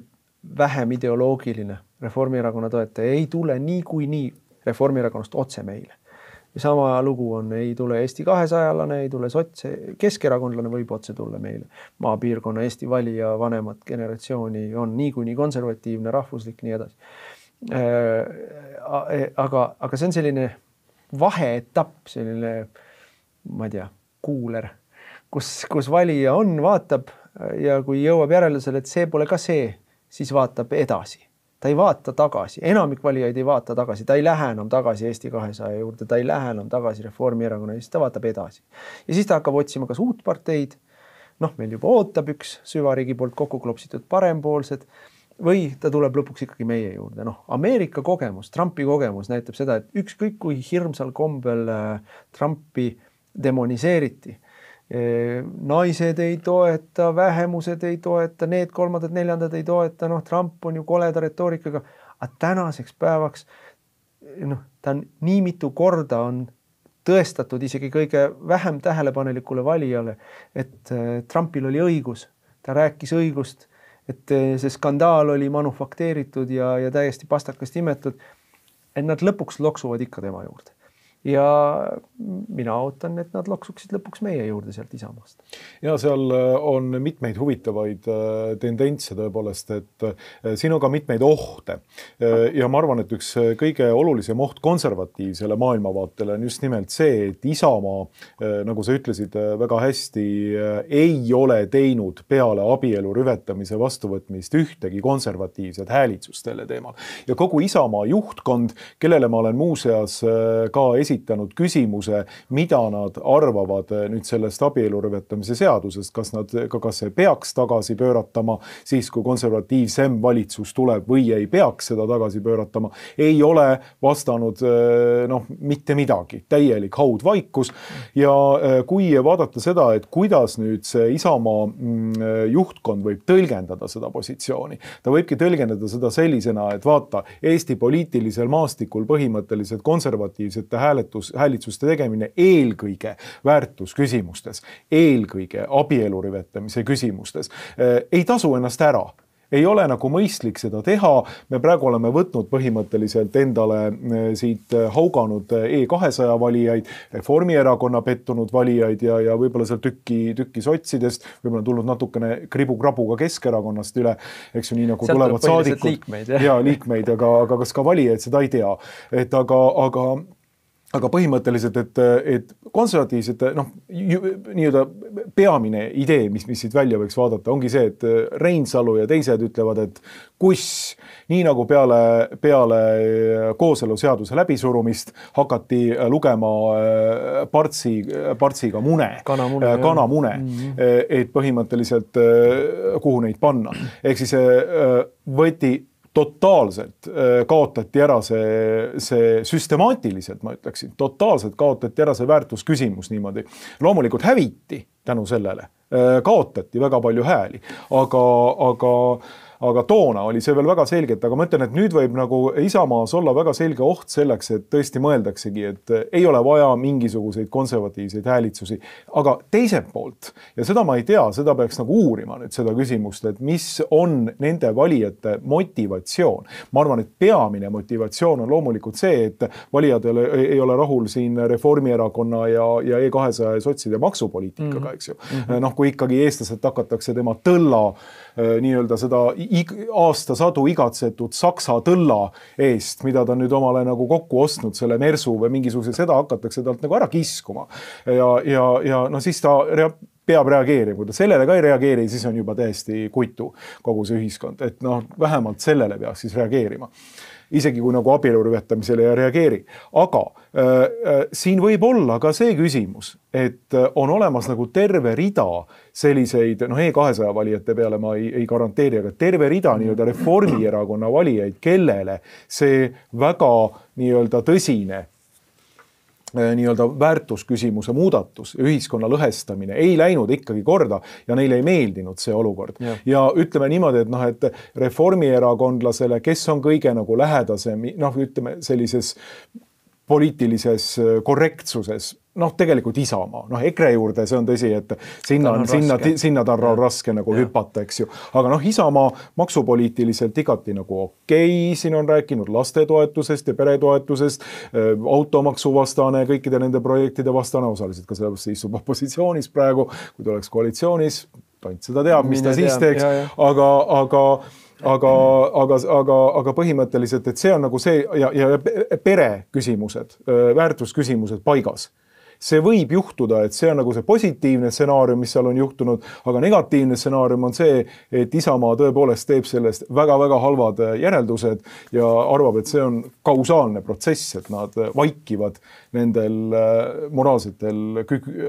vähem ideoloogiline Reformierakonna toetaja ei tule nii kui nii Reformierakonnast otse meile. Sama lugu on, ei tule Eesti kahesajalane, ei tule sotse, keskerakondlane võib otse tulla meile. Maapiirkonna Eesti valija vanemat generatsiooni on nii kui nii konservatiivne, rahvuslik, nii edasi. Aga, aga see on selline vaheetapp, selline, ma ei tea, kuuler, kus, kus valija on, vaatab ja kui jõuab järeldusele, et see pole ka see, siis vaatab edasi. Ta ei vaata tagasi. Enamik valijaid ei vaata tagasi. Ta ei lähe enam tagasi Eesti kahesaja juurde. Ta ei lähe enam tagasi Reformierakonna, siis ta vaatab edasi. Ja siis ta hakkab otsima kas uut parteid. Noh, meil juba ootab üks süvariigi poolt kokku klopsitud parempoolsed või ta tuleb lõpuks ikkagi meie juurde. Noh, Ameerika kogemus, Trumpi kogemus näitab seda, et ükskõik kui hirmsal kombel Trumpi demoniseeriti. Naised ei toeta, vähemused ei toeta, need kolmandad, neljandad ei toeta, noh, Trump on ju koleda retoorikaga, aga tänaseks päevaks, noh, ta on nii mitu korda on tõestatud isegi kõige vähem tähelepanelikule valijale, et Trumpil oli õigus. ta rääkis õigust, et see skandaal oli manufakteeritud ja, ja täiesti pastakast imetud, et nad lõpuks loksuvad ikka tema juurde. Ja mina ootan, et nad loksuksid lõpuks meie juurde sealt Isamaast. Ja seal on mitmeid huvitavaid tendentse tõepoolest, et siin on ka mitmeid ohte. Ja ma arvan, et üks kõige olulisem oht konservatiivsele maailmavaatele on just nimelt see, et Isamaa, nagu sa ütlesid väga hästi, ei ole teinud peale abielu rüvetamise vastuvõtmist ühtegi konservatiivset häälitsust selle teemal. Ja kogu Isamaa juhtkond, kellele ma olen muuseas ka esitanud küsimuse, mida nad arvavad nüüd sellest abielu rüvetamise seadusest, kas nad, kas see peaks tagasi pööratama siis, kui konservatiivsem valitsus tuleb või ei peaks seda tagasi pööratama, ei ole vastanud noh, mitte midagi, täielik haudvaikus. Ja kui vaadata seda, et kuidas nüüd see Isamaa juhtkond võib tõlgendada seda positsiooni, ta võibki tõlgendada seda sellisena, et vaata, Eesti poliitilisel maastikul põhimõtteliselt konservatiivsete hääle häälitsuste tegemine eelkõige väärtusküsimustes, eelkõige abielu rüvetamise küsimustes. Ei tasu ennast ära. Ei ole nagu mõistlik seda teha. Me praegu oleme võtnud põhimõtteliselt endale siit hauganud E kahesaja valijaid, Reformierakonna pettunud valijaid ja, ja võib-olla seal tükki, tükki sotsidest, võib-olla tulnud natukene kribu-krabu ka Keskerakonnast üle, eks ju, nii nagu sealt tulevad saadikud. Liikmeid, ja liikmeid, aga, aga kas ka valijaid, seda ei tea. Et aga, aga Aga põhimõtteliselt, et, et konservatiivsete, noh, nii-öelda peamine idee, mis, mis siit välja võiks vaadata, ongi see, et Reinsalu ja teised ütlevad, et kus, nii nagu peale, peale kooseluseaduse läbisurumist hakati lugema partsi, partsiga mune, kanamune, kanamune mm-hmm. et põhimõtteliselt kuhu neid panna. Ehk siis võeti totaalselt kaotati ära see, see süstemaatiliselt, ma ütleksin, totaalselt kaotati ära see väärtusküsimus niimoodi. Loomulikult häviti tänu sellele, kaotati väga palju hääli, aga, aga aga toona oli see veel väga selgelt, aga ma ütlen, et nüüd võib nagu Isamaas olla väga selge oht selleks, et tõesti mõeldaksegi, et ei ole vaja mingisuguseid konservatiivseid häälitsusi, aga teiselt poolt, ja seda ma ei tea, seda peaks nagu uurima nüüd seda küsimust, et mis on nende valijate motivatsioon. Ma arvan, et peamine motivatsioon on loomulikult see, et valijad ei ole rahul siin Reformierakonna ja, ja E kahesaja ja sotside maksupoliitikaga, eks ju. Mm-hmm. Noh, kui ikkagi eestlased hakatakse tema tõlla nii-öelda seda aasta sadu igatsetud saksa tõlla eest, mida ta nüüd omale nagu kokku ostnud selle mersu või mingisuguse, seda hakatakse talt nagu ära kiskuma. Ja, ja, ja no siis ta rea- peab reageerima, kui ta sellele ka ei reageeri, siis on juba täiesti kuitu kogu see ühiskond, et noh, vähemalt sellele peaks siis reageerima. Isegi kui nagu abielu rüvetamisele ei reageeri. Aga äh, siin võib olla ka see küsimus, et on olemas nagu terve rida selliseid, noh E kahesaja valijate peale ma ei, ei garanteeri, aga terve rida nii-öelda Reformierakonna valijaid, kellele see väga nii-öelda tõsine nii-öelda väärtusküsimuse muudatus, ühiskonna lõhestamine ei läinud ikkagi korda ja neile ei meeldinud see olukord. Ja, ja ütleme niimoodi, et noh, et reformierakondlasele, kes on kõige nagu lähedasem, noh, ütleme sellises poliitilises korrektsuses, noh, tegelikult Isamaa, noh, EKRE juurde see on tõsi, et sinna, on sinna, sinna ta on raske nagu ja. hüpata, eks ju. Aga noh, Isamaa maksupoliitiliselt igati nagu okei, siin on rääkinud lastetoetusest ja peretoetusest, automaksu vastane, kõikide nende projektide vastane, osaliselt ka sellepärast istub opositsioonis praegu, kui ta oleks koalitsioonis, tont seda teab, mis ta Mine siis teeks, ja, ja. aga, aga Aga, aga, aga, aga põhimõtteliselt, et see on nagu see ja, ja pere küsimused, väärtusküsimused paigas. See võib juhtuda, et see on nagu see positiivne stsenaarium, mis seal on juhtunud, aga negatiivne stsenaarium on see, et Isamaa tõepoolest teeb sellest väga-väga halvad järeldused ja arvab, et see on kausaalne protsess, et nad vaikivad nendel moraalsetel,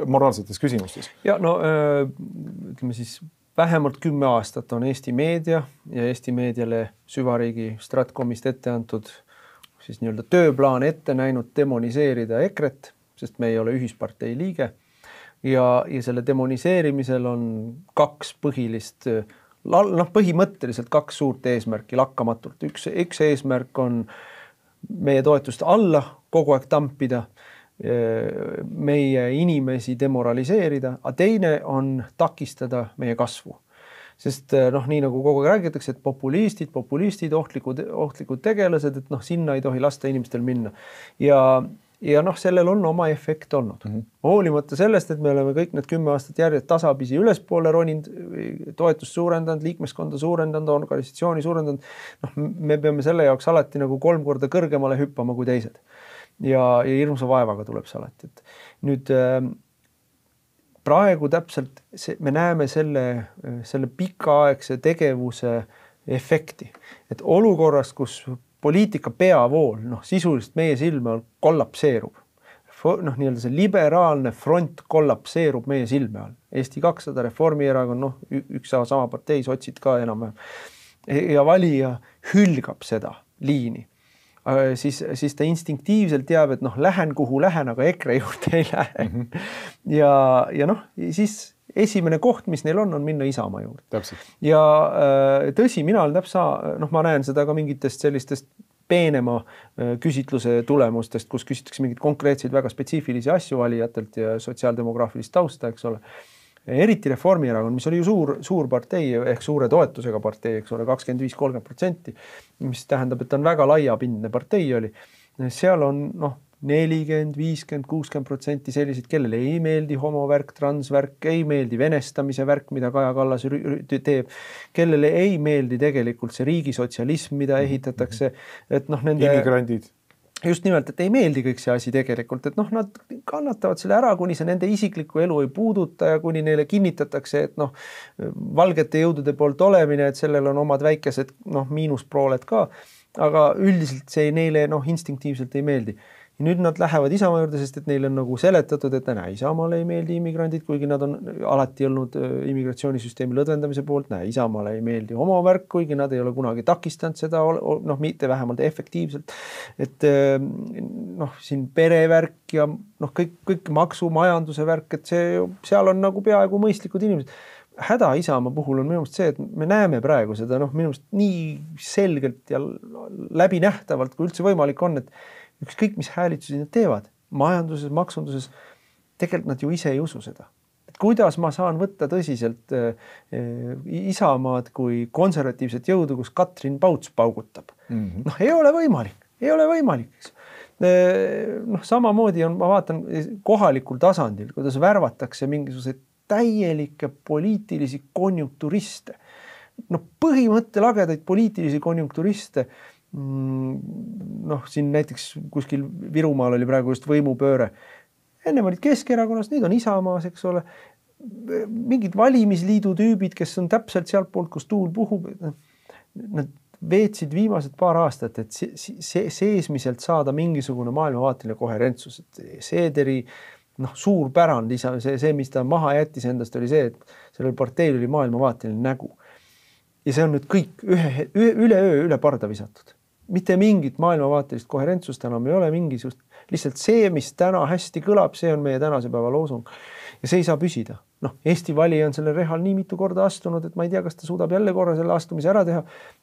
moraalsetes küsimustes. Ja no ütleme siis vähemalt kümme aastat on Eesti meedia ja Eesti meediale süvariigi Stratkomist ette antud siis nii-öelda tööplaan ette näinud demoniseerida EKRE-t, sest me ei ole ühispartei liige. Ja, ja selle demoniseerimisel on kaks põhilist, noh, põhimõtteliselt kaks suurt eesmärki lakkamatult. Üks, üks eesmärk on meie toetust alla kogu aeg tampida, meie inimesi demoraliseerida, aga teine on takistada meie kasvu. Sest noh, nii nagu kogu aeg räägitakse, et populistid, populistid, ohtlikud, ohtlikud tegelased, et noh, sinna ei tohi lasta inimestel minna. Ja Ja noh, sellel on oma efekt olnud. Mm -hmm. Hoolimata sellest, et me oleme kõik need kümme aastat järjest tasapisi ülespoole roninud, toetust suurendanud, liikmeskonda suurendanud, organisatsiooni suurendanud, noh, me peame selle jaoks alati nagu kolm korda kõrgemale hüppama kui teised. Ja, ja hirmsa vaevaga tuleb see alati. Et nüüd praegu täpselt see, me näeme selle, selle pikaaegse tegevuse efekti. Et olukorras, kus poliitika peavool, noh, sisuliselt meie silme all kollapseerub. Noh, nii-öelda see liberaalne front kollapseerub meie silme all. Eesti kakssada, Reformierakond, noh, üks sama partei, sotsid ka enam. Ja valija hülgab seda liini. Siis, siis ta instinktiivselt teab, et noh, lähen kuhu lähen, aga EKRE juurde ei lähe. Mm -hmm. Ja, ja noh, siis esimene koht, mis neil on, on minna Isamaa juurde. Täpselt. Ja tõsi, mina olen täpsa, noh, ma näen seda ka mingitest sellistest peenema küsitluse tulemustest, kus küsitakse mingid konkreetseid väga spetsiifilisi asju valijatelt ja sotsiaaldemograafilist tausta, eks ole. Eriti Reformierakond, mis oli ju suur, suur partei ehk suure toetusega partei, eks ole, kakskümmend viis kolmkümmend protsenti, mis tähendab, et ta on väga laiapindne partei oli. Seal on, noh, nelikümmend, viiskümmend, kuuskümmend protsenti sellised, kellele ei meeldi homovärk, transvärk, ei meeldi venestamise värk, mida Kaja Kallas teeb, kellele ei meeldi tegelikult see riigisotsialism, mida ehitatakse, et noh, nende immigrandid. Just nimelt, et ei meeldi kõik see asi tegelikult, et noh, nad kannatavad selle ära, kuni see nende isiklikku elu ei puuduta ja kuni neile kinnitatakse, et noh, valgete jõudude poolt olemine, et sellel on omad väikesed, noh, miinusprooled ka, aga üldiselt see neile, noh, instinktiivselt ei meeldi. Ja nüüd nad lähevad Isamaa juurde, sest et neile on nagu seletatud, et näe, Isamaale ei meeldi immigrandid, kuigi nad on alati olnud immigratsioonisüsteemi lõdvendamise poolt, näe, Isamaale ei meeldi homovärk, kuigi nad ei ole kunagi takistanud seda, noh, mitte vähemalt efektiivselt. Et noh, siin perevärk ja noh, kõik, kõik maksumajanduse värk, et see, seal on nagu peaaegu mõistlikud inimesed. Häda Isamaa puhul on minu meelest see, et me näeme praegu seda, noh, minu meelest nii selgelt ja läbinähtavalt, kui üldse võimalik on, et ükskõik, mis häälitusi nad teevad, majanduses, maksunduses, tegelikult nad ju ise ei usu seda. Et kuidas ma saan võtta tõsiselt äh, Isamaad kui konservatiivset jõudu, kus Katrin Pauts paugutab? Mm -hmm. Noh, ei ole võimalik, ei ole võimalik. Noh, samamoodi on, ma vaatan kohalikul tasandil, kuidas värvatakse mingisuguseid täielikke poliitilisi konjunkturiste. Noh, põhimõttelagedaid poliitilisi konjunkturiste. Noh, siin näiteks kuskil Virumaal oli praegu just võimupööre. Enne olid Keskerakonnast, nüüd on Isamaas, eks ole. Mingid valimisliidu tüübid, kes on täpselt sealt poolt, kus tuul puhub. Nad veetsid viimased paar aastat, et seesmiselt saada mingisugune maailmavaateline koherentsus. Et Seederi noh, suur pärand, see, see, mis ta maha jättis endast, oli see, et sellel parteil oli maailmavaateline nägu. Ja see on nüüd kõik ühe, üle öö üle parda visatud. Mitte mingit maailmavaatelist koherentsust enam ei ole, mingisugust. Lihtsalt see, mis täna hästi kõlab, see on meie tänase päeva loosung. Ja see ei saa püsida. Noh, Eesti valija on selle rehal nii mitu korda astunud, et ma ei tea, kas ta suudab jälle korra selle astumise ära teha.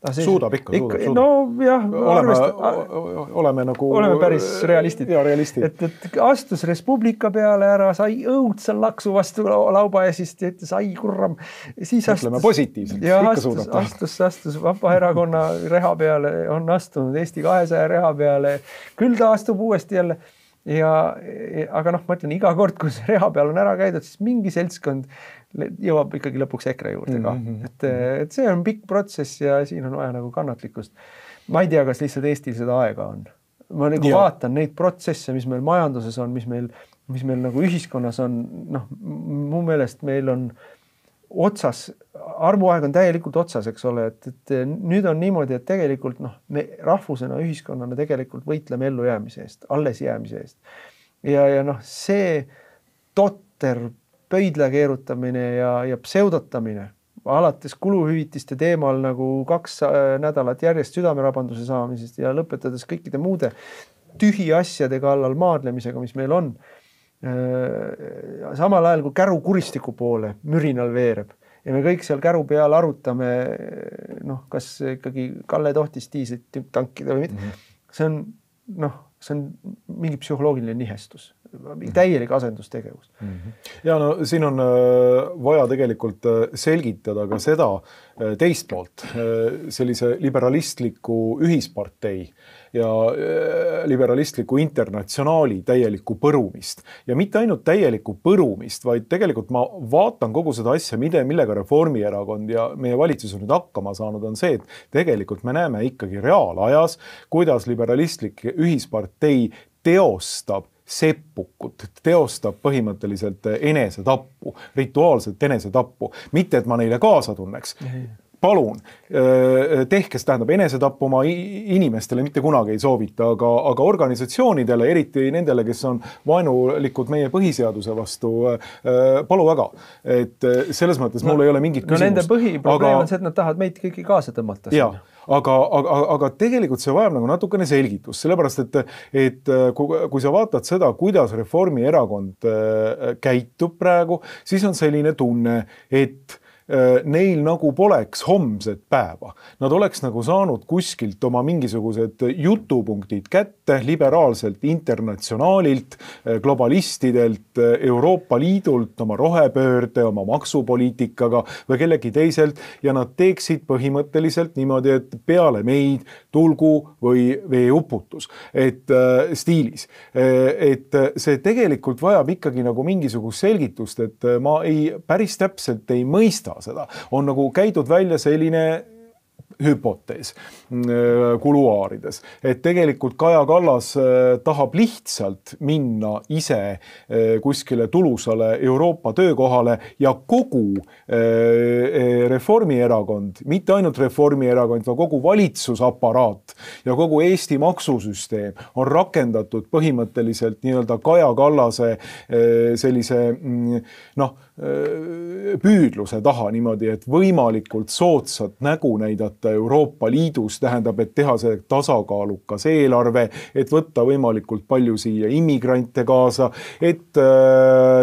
See, suudab ikka, ikka, suudab. No jah, oleme, arvest, oleme nagu... Oleme päris realistid. Ja, realistid. Et, et astus Res Publica peale ära, sai õudse laksu vastu lauba ja siis ütles, ai kurram. Siis astus, ütleme positiivselt, ja ikka astus, suudab. Astus, astus Vabaerakonna reha peale, on astunud Eesti kahesaja reha peale. Küll ta astub uuesti jälle. Ja, aga noh, ma ütlen, iga kord, kui see reha peal on ära käidud, siis mingi seltskond jõuab ikkagi lõpuks EKRE juurde ka. Mm-hmm. Et, et see on pikk protsess ja siin on vaja nagu kannatlikkust. Ma ei tea, kas lihtsalt Eestil seda aega on. Ma nagu ja. vaatan neid protsesse, mis meil majanduses on, mis meil, mis meil nagu ühiskonnas on. Noh, mu meelest meil on otsas, armuaeg on täielikult otsas, eks ole, et, et nüüd on niimoodi, et tegelikult noh, me rahvusena, ühiskonnana tegelikult võitleme ellu jäämise eest, alles jäämise eest. Ja, ja noh, see totter pöidla keerutamine ja, ja pseudotamine, alates kuluhüvitiste teemal nagu kaks nädalat järjest südamerabanduse saamisest ja lõpetades kõikide muude tühi asjade kallal maadlemisega, mis meil on. Samal ajal kui käru kuristiku poole mürinal veereb ja me kõik seal käru peal arutame, noh, kas ikkagi Kalle tohtis diislit tankida või mitte. Mm-hmm. See on, noh, see on mingi psühholoogiline nihestus. täielik asendustegevus. Ja no siin on vaja tegelikult selgitada ka seda teist poolt, sellise liberalistliku ühispartei ja liberalistliku internatsionaali täielikku põrumist. Ja mitte ainult täielikku põrumist, vaid tegelikult ma vaatan kogu seda asja, millega Reformierakond ja meie valitsus on nüüd hakkama saanud, on see, et tegelikult me näeme ikkagi reaalajas, kuidas liberalistlik ühispartei teostab seppukut, teostab põhimõtteliselt enesetappu, rituaalselt enesetappu. Mitte, et ma neile kaasa tunneks. Palun, tehkes tähendab enesetappu oma inimestele mitte kunagi ei soovita, aga, aga organisatsioonidele, eriti nendele, kes on vaenulikud meie põhiseaduse vastu, palu väga. Et selles mõttes no, mul ei ole mingit küsimust. No nende põhiprobleem aga, on see, et nad tahavad meid kõiki kaasa tõmmata. Jaa, aga, aga, aga tegelikult see vajab nagu natukene selgitust, sellepärast, et, et kui, kui sa vaatad seda, kuidas Reformierakond käitub praegu, siis on selline tunne, et neil nagu poleks homset päeva. Nad oleks nagu saanud kuskilt oma mingisugused jutupunktid kätte liberaalselt internatsionaalilt, globalistidelt, Euroopa Liidult, oma rohepöörde, oma maksupoliitikaga või kellegi teiselt ja nad teeksid põhimõtteliselt niimoodi, et peale meid tulgu või veeuputus. Et äh, stiilis. Et see tegelikult vajab ikkagi nagu mingisugust selgitust, et ma ei, päris täpselt ei mõista seda. On nagu käidud välja selline hüpotees kuluaarides, et tegelikult Kaja Kallas tahab lihtsalt minna ise kuskile tulusale Euroopa töökohale ja kogu Reformierakond, mitte ainult Reformierakond, vaid kogu valitsusaparaat ja kogu Eesti maksusüsteem on rakendatud põhimõtteliselt nii-öelda Kaja Kallase sellise noh, püüdluse taha niimoodi, et võimalikult soodsat nägu näidata Euroopa Liidus, tähendab, et teha see tasakaalukas eelarve, et võtta võimalikult palju siia immigrante kaasa, et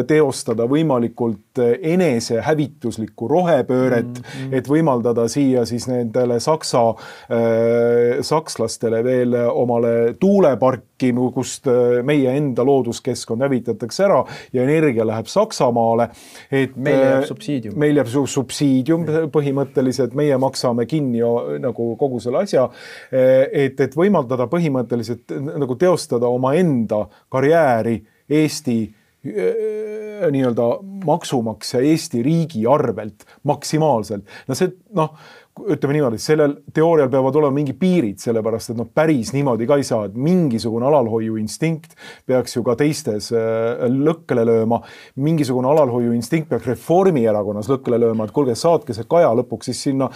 teostada võimalikult enese hävituslikku rohepööret, mm-hmm. et võimaldada siia siis nendele saksa, äh, sakslastele veel omale tuuleparki, kust meie enda looduskeskkond hävitatakse ära ja energia läheb Saksamaale. Et meil jääb subsiidium. Meil jääb subsiidium põhimõtteliselt, meie maksame kinni nagu kogu selle asja, et, et võimaldada põhimõtteliselt nagu teostada oma enda karjääri Eesti nii-öelda maksumaksja Eesti riigi arvelt maksimaalselt. No see, noh, ütleme niimoodi, sellel teoorial peavad olema mingi piirid, sellepärast, et noh, päris niimoodi ka ei saa, et mingisugune alalhoiu instinkt peaks ju ka teistes lõkkele lööma, mingisugune alalhoiu instinkt peaks Reformierakonnas lõkkele lööma, et kuulge, saatke see Kaja lõpuks siis sinna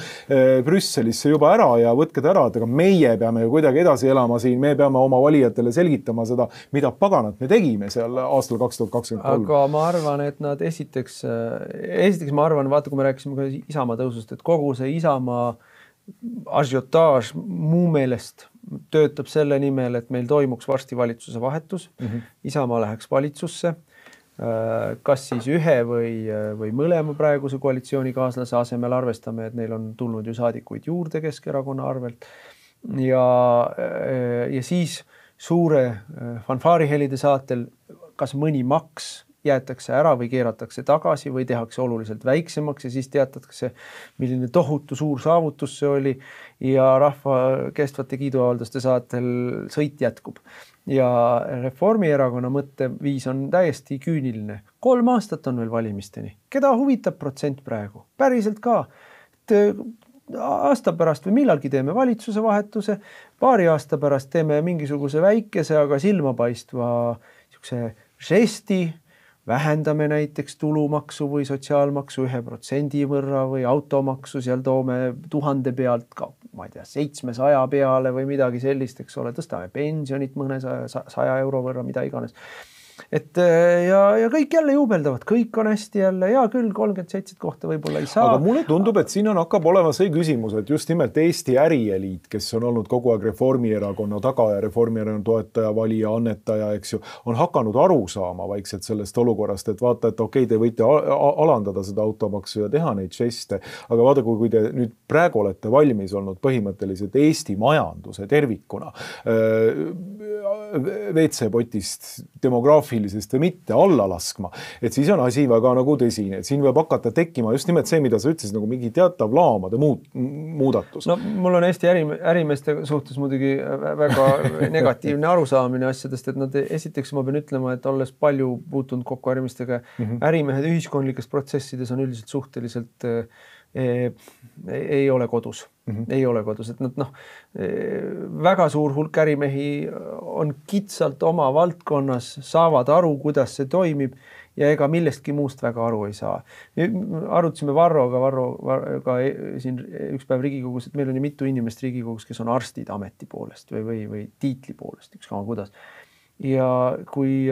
Brüsselisse juba ära ja võtke ta ära, et aga meie peame ju kuidagi edasi elama siin, me peame oma valijatele selgitama seda, mida paganat me tegime seal aastal kaks tuhat kakskümmend kolm. Aga ma arvan, et nad esiteks, esiteks ma arvan, vaata, kui me rääkisime ka Isamaa tõusust, et kogu see Isamaa ažiotaaž muu meelest töötab selle nimel, et meil toimuks varsti valitsuse vahetus. Mm-hmm. Isamaa läheks valitsusse. Kas siis ühe või, või mõlema praeguse koalitsioonikaaslase asemel arvestame, et neil on tulnud ju saadikuid juurde Keskerakonna arvelt. Ja, ja siis suure fanfaarihelide saatel kas mõni maks jäetakse ära või keeratakse tagasi või tehakse oluliselt väiksemaks ja siis teatatakse, milline tohutu suur saavutus see oli ja rahva kestvate kiiduavalduste saatel sõit jätkub. Ja Reformierakonna mõtteviis on täiesti küüniline. Kolm aastat on veel valimisteni. Keda huvitab protsent praegu? Päriselt ka. Et aasta pärast või millalgi teeme valitsuse vahetuse, paari aasta pärast teeme mingisuguse väikese, aga silmapaistva žesti, vähendame näiteks tulumaksu või sotsiaalmaksu ühe protsendi võrra või automaksu, seal toome tuhande pealt ka, ma ei tea, seitsmesaja peale või midagi sellist, eks ole, tõstame pensionit mõne saja euro võrra, mida iganes. Et ja, ja kõik jälle juubeldavad, kõik on hästi jälle, ja küll kolmkümmend seitse kohta võib-olla ei saa. Aga mulle tundub, et siin on hakkab olema see küsimus, et just nimelt Eesti ärieliit, kes on olnud kogu aeg Reformierakonna taga ja Reformierakonna toetaja, valija, annetaja, eks ju, on hakanud aru saama vaikselt sellest olukorrast, et vaata, et okei, te võite alandada seda automaksu ja teha neid žeste, aga vaata, kui te nüüd praegu olete valmis olnud põhimõtteliselt Eesti majanduse tervikuna, V C-potist, demograafia trahvilisest või mitte alla laskma, et siis on asi väga nagu tõsine, et siin võib hakata tekkima just nimelt see, mida sa ütlesid, nagu mingi teatav laamade muut, muudatus. No mul on Eesti äri, ärimeeste suhtes muidugi väga negatiivne arusaamine asjadest, et nad esiteks ma pean ütlema, et olles palju puutunud kokku ärimestega, mm -hmm. ärimehed ühiskondlikes protsessides on üldiselt suhteliselt e, ei ole kodus. Mm -hmm. Ei ole kodus, et nad noh, väga suur hulk ärimehi on kitsalt oma valdkonnas, saavad aru, kuidas see toimib ja ega millestki muust väga aru ei saa. Arutasime Varroga, Varroga siin üks päev Riigikogus, et meil on ju mitu inimest Riigikogus, kes on arstid ameti poolest või, või, või tiitli poolest, ükskama kuidas. Ja kui,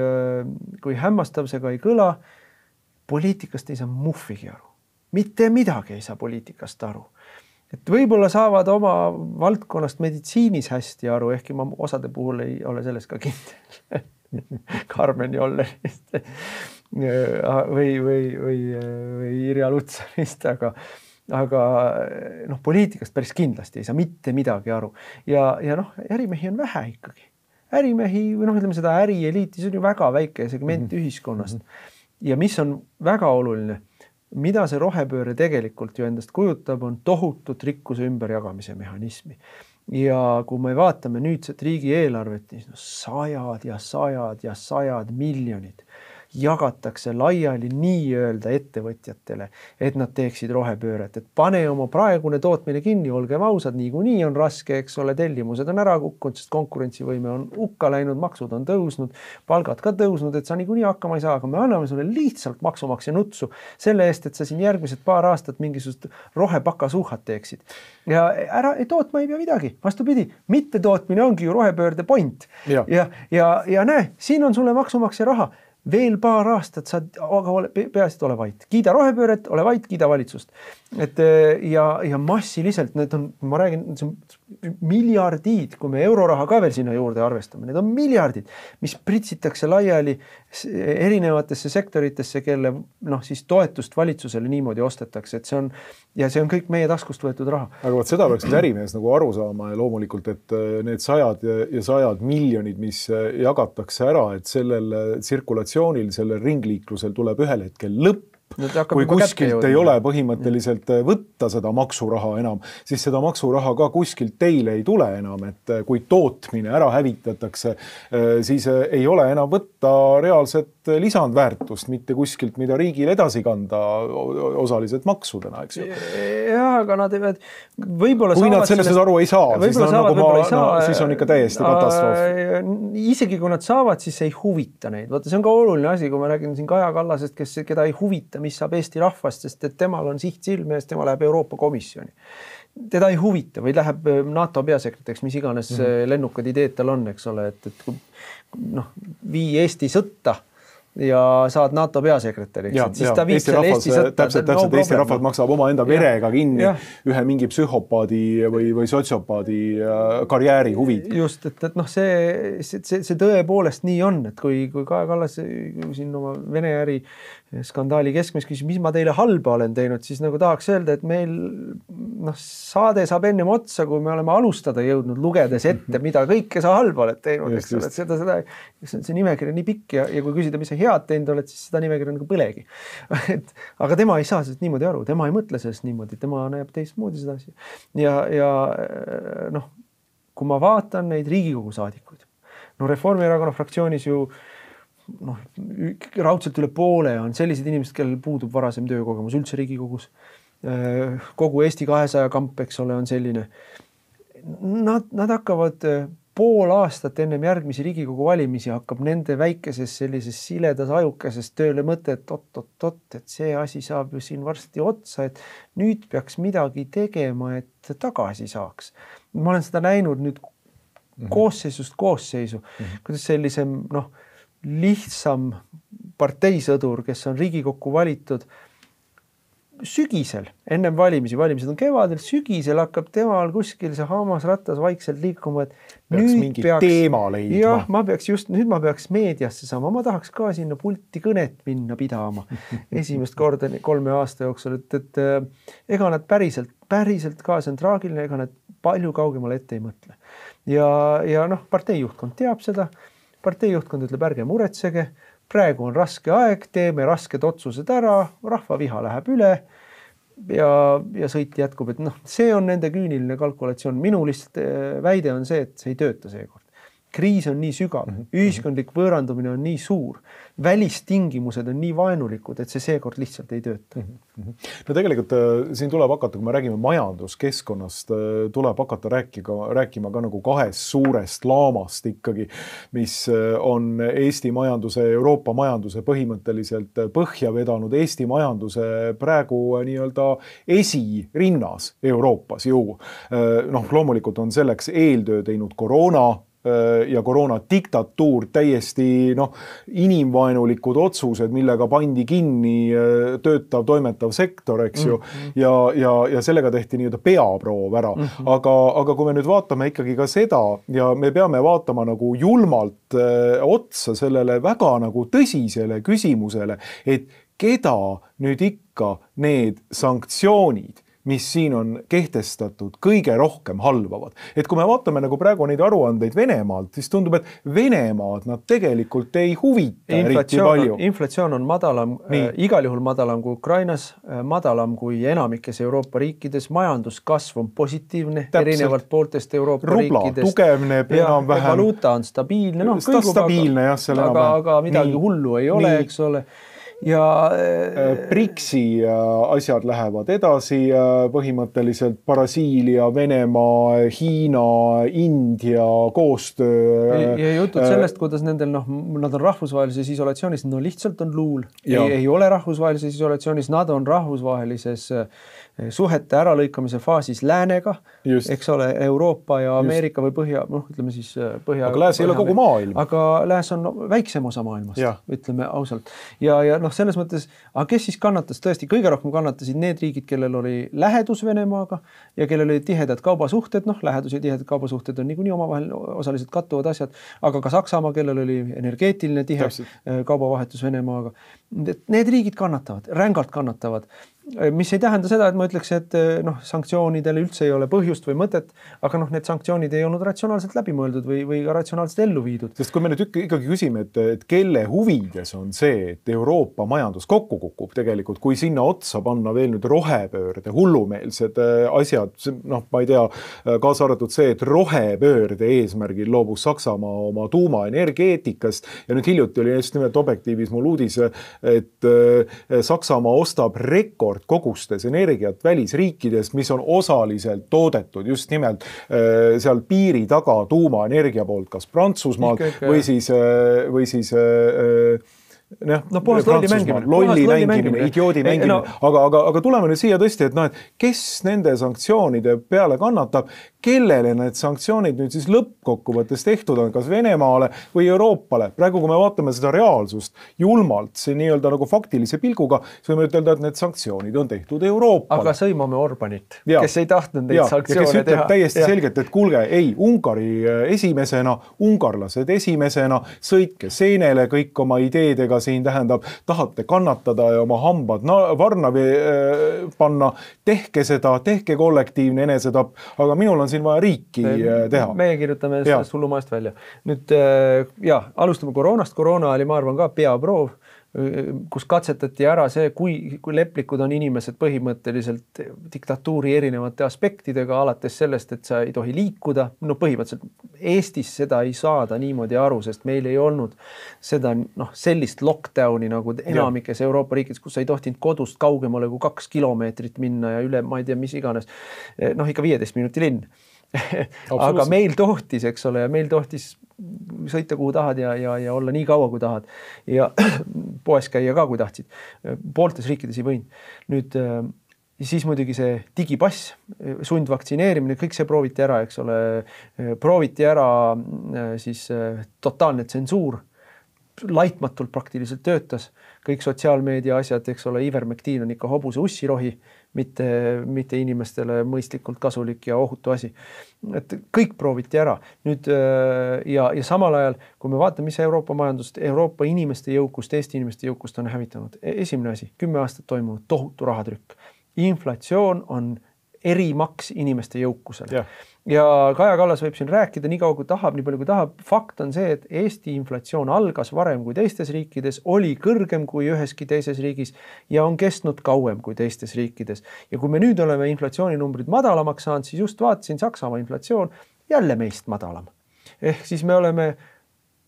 kui hämmastav see ka ei kõla, poliitikast ei saa muffigi aru. Mitte midagi ei saa poliitikast aru. Et võib-olla saavad oma valdkonnast meditsiinis hästi aru, ehkki ma osade puhul ei ole selles ka kindel. Karmen Jollerist või, või, või, või Irja Lutsarist, aga, aga noh, poliitikast päris kindlasti ei saa mitte midagi aru. Ja, ja noh, ärimehi on vähe ikkagi. Ärimehi, või noh, ütleme seda ärieliiti, see on ju väga väike segment mm-hmm. ühiskonnast. Ja mis on väga oluline, mida see rohepööre tegelikult ju endast kujutab, on tohutut rikkuse ümberjagamise mehhanismi. Ja kui me vaatame nüüdset riigieelarvet, siis no sajad ja sajad ja sajad miljonid jagatakse laiali nii-öelda ettevõtjatele, et nad teeksid rohepööret. Et pane oma praegune tootmine kinni, olgem ausad, niikuinii on raske, eks ole, tellimused on ära kukkunud, sest konkurentsivõime on hukka läinud, maksud on tõusnud, palgad ka tõusnud, et sa niikuinii hakkama ei saa, aga me anname sulle lihtsalt maksumaksja nutsu selle eest, et sa siin järgmised paar aastat mingisugust rohepakasuuhat teeksid. Ja ära tootma ei pea midagi, vastupidi, mitte tootmine ongi ju rohepöörde point. Ja, ja, ja, ja näe, siin on sulle maksumaksja raha. Veel paar aastat saad, aga ole, peaasi, et ole vait. Kiida rohepööret, ole vait, kiida valitsust. Et, ja, ja massiliselt, need on, ma räägin, see on miljardid, kui me euroraha ka veel sinna juurde arvestame, need on miljardid, mis pritsitakse laiali erinevatesse sektoritesse, kelle noh, siis toetust valitsusele niimoodi ostetakse, et see on, ja see on kõik meie taskust võetud raha. Aga võt seda peaks ärimees nagu aru saama ja loomulikult, et need sajad ja sajad miljonid, mis jagatakse ära, et sellel tsirkulatsioonil, sellel ringliiklusel tuleb ühel hetkel lõpp. Kui kuskilt ei ole põhimõtteliselt võtta seda maksuraha enam, siis seda maksuraha ka kuskilt teile ei tule enam, et kui tootmine ära hävitatakse, siis ei ole enam võtta reaalset lisandväärtust, mitte kuskilt, mida riigil edasi kanda osaliselt maksudena, eks ju. Jah, aga nad ei pead, võib-olla kui nad sellest sellest... aru ei saa, siis, saavad, nagu ma, saa, no, siis on ikka täiesti katastroof. Isegi kui nad saavad, siis ei huvita neid. Vaata, see on ka oluline asi, kui ma räägin siin Kaja Kallasest, kes, keda ei huvita, mis saab Eesti rahvast, sest et temal on siht silme ees, tema läheb Euroopa Komisjoni. Teda ei huvita või läheb NATO peasekretäriks, mis iganes mm -hmm. lennukad ideed tal on, eks ole, et, et noh, vii Eesti sõtta ja saad NATO peasekretäriks, et siis ja, ta viib selle Eesti sõtta. Täpselt, täpselt no Eesti rahvalt maksab oma enda verega kinni ja. ühe mingi psühhopaadi või, või sotsiopaadi karjääri huvid. Just, et, et noh, see, see, see tõepoolest nii on, et kui, kui Kaja Kallas siin oma Vene äri skandaali keskmes küsib, mis ma teile halba olen teinud, siis nagu tahaks öelda, et meil noh, saade saab ennem otsa, kui me oleme alustada jõudnud, lugedes ette, mida kõike sa halba oled teinud, eks ole, et seda, seda, see nimekiri nii pikk ja, ja kui küsida, mis sa head teinud oled, siis seda nimekiri nagu põlegi. Et, aga tema ei saa sellest niimoodi aru, tema ei mõtle sellest niimoodi, tema näeb teistmoodi seda asja. Ja, ja noh, kui ma vaatan neid Riigikogu saadikuid, no Reformierakonna fraktsioonis ju noh, raudselt üle poole on sellised inimesed, kellel puudub varasem töökogemus üldse Riigikogus. Kogu Eesti kahesaja kamp, eks ole, on selline. Nad, nad hakkavad pool aastat ennem järgmisi Riigikogu valimisi hakkab nende väikeses sellises siledas ajukeses tööle mõte, et oot-oot-oot, et see asi saab ju siin varsti otsa, et nüüd peaks midagi tegema, et tagasi saaks. Ma olen seda näinud nüüd koosseisust koosseisu, mm-hmm. kuidas sellisem noh, lihtsam parteisõdur, kes on Riigikokku valitud sügisel, ennem valimisi, valimised on kevadel, sügisel hakkab temal kuskil see hammasrattas vaikselt liikuma, et peaks nüüd mingi peaks, teema leidma. Jah, ma peaks just, nüüd ma peaks meediasse saama, ma tahaks ka sinna pulti kõnet minna pidama esimest korda kolme aasta jooksul, et, et ega nad päriselt, päriselt ka, see on traagiline, ega nad palju kaugemale ette ei mõtle. Ja, ja noh, parteijuhtkond teab seda, parteijuhtkond ütleb, ärge muretsege, praegu on raske aeg, teeme rasked otsused ära, rahva viha läheb üle ja, ja sõit jätkub, et noh, see on nende küüniline kalkulatsioon. Minu lihtsalt väide on see, et see ei tööta seekord. Kriis on nii sügav, ühiskondlik võõrandumine on nii suur, välistingimused on nii vaenulikud, et see seekord lihtsalt ei tööta. No tegelikult siin tuleb hakata, kui me räägime majanduskeskkonnast, tuleb hakata rääkima, rääkima ka nagu kahest suurest laamast ikkagi, mis on Eesti majanduse, Euroopa majanduse põhimõtteliselt põhja vedanud. Eesti majanduse praegu nii-öelda esirinnas Euroopas ju. Noh, loomulikult on selleks eeltöö teinud koroona, ja koroona diktatuur, täiesti noh, inimvaenulikud otsused, millega pandi kinni töötav, toimetav sektor, eks ju, mm-hmm. ja, ja, ja sellega tehti nii-öelda peaproov ära. Mm-hmm. Aga, aga kui me nüüd vaatame ikkagi ka seda ja me peame vaatama nagu julmalt äh, otsa sellele väga nagu tõsisele küsimusele, et keda nüüd ikka need sanktsioonid, mis siin on kehtestatud, kõige rohkem halvavad. Et kui me vaatame nagu praegu neid aruandeid Venemaalt, siis tundub, et Venemaad nad tegelikult ei huvita eriti palju. Inflatsioon on madalam, äh, igal juhul madalam kui Ukrainas, äh, madalam kui enamikes Euroopa riikides, majanduskasv on positiivne, täpselt. Erinevalt pooltest Euroopa Rubla, riikidest. tugevneb enam vähem. Valuuta on stabiilne, no, kõigub, stabiilne aga, jah, seal aga, aga midagi nii, hullu ei ole, nii. Eks ole. Ja Brixi asjad lähevad edasi, põhimõtteliselt Brasiilia, Venemaa, Hiina, India koostöö. Ja, ja jutud sellest, kuidas nendel, noh, nad on rahvusvahelises isolatsioonis, no lihtsalt on luul. Ei, ei ole rahvusvahelises isolatsioonis, nad on rahvusvahelises suhete äralõikamise faasis läänega, just. Eks ole, Euroopa ja Ameerika just. Või põhja, noh, ütleme siis põhja. Aga lääs ei ole kogu maailm. Aga lääs on no, väiksem osa maailmast, ja. Ütleme ausalt. Ja, ja noh, selles mõttes, aga kes siis kannatas? Tõesti, kõige rohkem kannatasid need riigid, kellel oli lähedus Venemaaga ja kellel oli tihedad kaubasuhted, noh, lähedus ja tihedad kaubasuhted on niikuinii omavahel osaliselt kattuvad asjad, aga ka Saksamaa, kellel oli energeetiline tihe Täpselt. Kaubavahetus Venemaaga. Need riigid kannatavad, rängalt kannatavad. Mis ei tähenda seda, et ma ütleks, et noh, sanktsioonidele üldse ei ole põhjust või mõtet, aga noh, need sanktsioonid ei olnud ratsionaalselt läbimõeldud või, või ka ratsionaalselt ellu viidud. Sest kui me nüüd ikkagi küsime, et, et kelle huvides on see, et Euroopa majandus kokku kukub tegelikult, kui sinna otsa panna veel nüüd rohepöörde, hullumeelsed asjad, noh, ma ei tea, kaasa arvatud see, et rohepöörde eesmärgil loobus Saksamaa oma tuumaenergeetikast ja nüüd hiljuti oli just nimelt Objektiivis mul uudis, et Saksamaa ostab rekord kogustes energiat välisriikidest, mis on osaliselt toodetud just nimelt äh, seal piiri taga tuumaenergia poolt, kas Prantsusmaalt või siis, äh, või siis äh, noh, no, puhast lolli mängimine, lolli mängimine, idioodi mängimine, no, aga, aga, aga tuleme nüüd siia tõesti, et noh, et kes nende sanktsioonide peale kannatab, kellele need sanktsioonid nüüd siis lõppkokkuvõttes tehtud on, kas Venemaale või Euroopale. Praegu, kui me vaatame seda reaalsust julmalt, see nii-öelda nagu faktilise pilguga, siis võime ütelda, et need sanktsioonid on tehtud Euroopale. Aga sõimame Orbanit, ja. Kes ei tahtnud neid ja. Sanktsioone teha. Ja kes ütleb täiesti ja. Selgelt, et kuulge, ei, Ungari esimesena, ungarlased esimesena, sõitke seenele kõik oma ideedega siin tähendab, tahate kannatada ja oma hambad varna panna, tehke seda, tehke kollektiivne enesetapp, aga minul on siin vaja riiki teha. Meie kirjutame sellest hullumaast välja. Nüüd, ja, alustame koroonast. Koroona oli, ma arvan, ka peaproov, kus katsetati ära see, kui, kui leplikud on inimesed põhimõtteliselt diktatuuri erinevate aspektidega, alates sellest, et sa ei tohi liikuda. No põhimõtteliselt Eestis seda ei saada niimoodi aru, sest meil ei olnud seda noh, sellist lockdowni nagu enamikes ja. Euroopa riikides, kus sa ei tohtinud kodust kaugemale kui kaks kilomeetrit minna ja üle, ma ei tea, mis iganes. Noh, ikka viieteist minuti linn. Aga meil tohtis, eks ole, ja meil tohtis sõita kuhu tahad ja, ja, ja olla nii kaua kui tahad ja poes käia ka kui tahtsid. Pooltes riikides ei võinud. Nüüd siis muidugi see digipass, sundvaktsineerimine, kõik see prooviti ära, eks ole. Prooviti ära siis totaalne tsensuur, laitmatult praktiliselt töötas. Kõik sotsiaalmeedia asjad, eks ole, Ivermectin on ikka hobuse ussirohi, mitte, mitte inimestele mõistlikult kasulik ja ohutu asi. Et kõik prooviti ära. Nüüd, ja, ja samal ajal, kui me vaatame, mis Euroopa majandust, Euroopa inimeste jõukust, Eesti inimeste jõukust on hävitanud. Esimene asi, kümme aastat toimunud tohutu rahatrükk. Inflatsioon on erimaks inimeste jõukusele. Yeah. Ja Kaja Kallas võib siin rääkida nii kaua kui tahab, nii palju kui tahab. Fakt on see, et Eesti inflatsioon algas varem kui teistes riikides, oli kõrgem kui üheski teises riigis ja on kestnud kauem kui teistes riikides. Ja kui me nüüd oleme inflatsiooninumbrid madalamaks saanud, siis just vaatasin Saksamaa inflatsioon jälle meist madalam. Ehk siis me oleme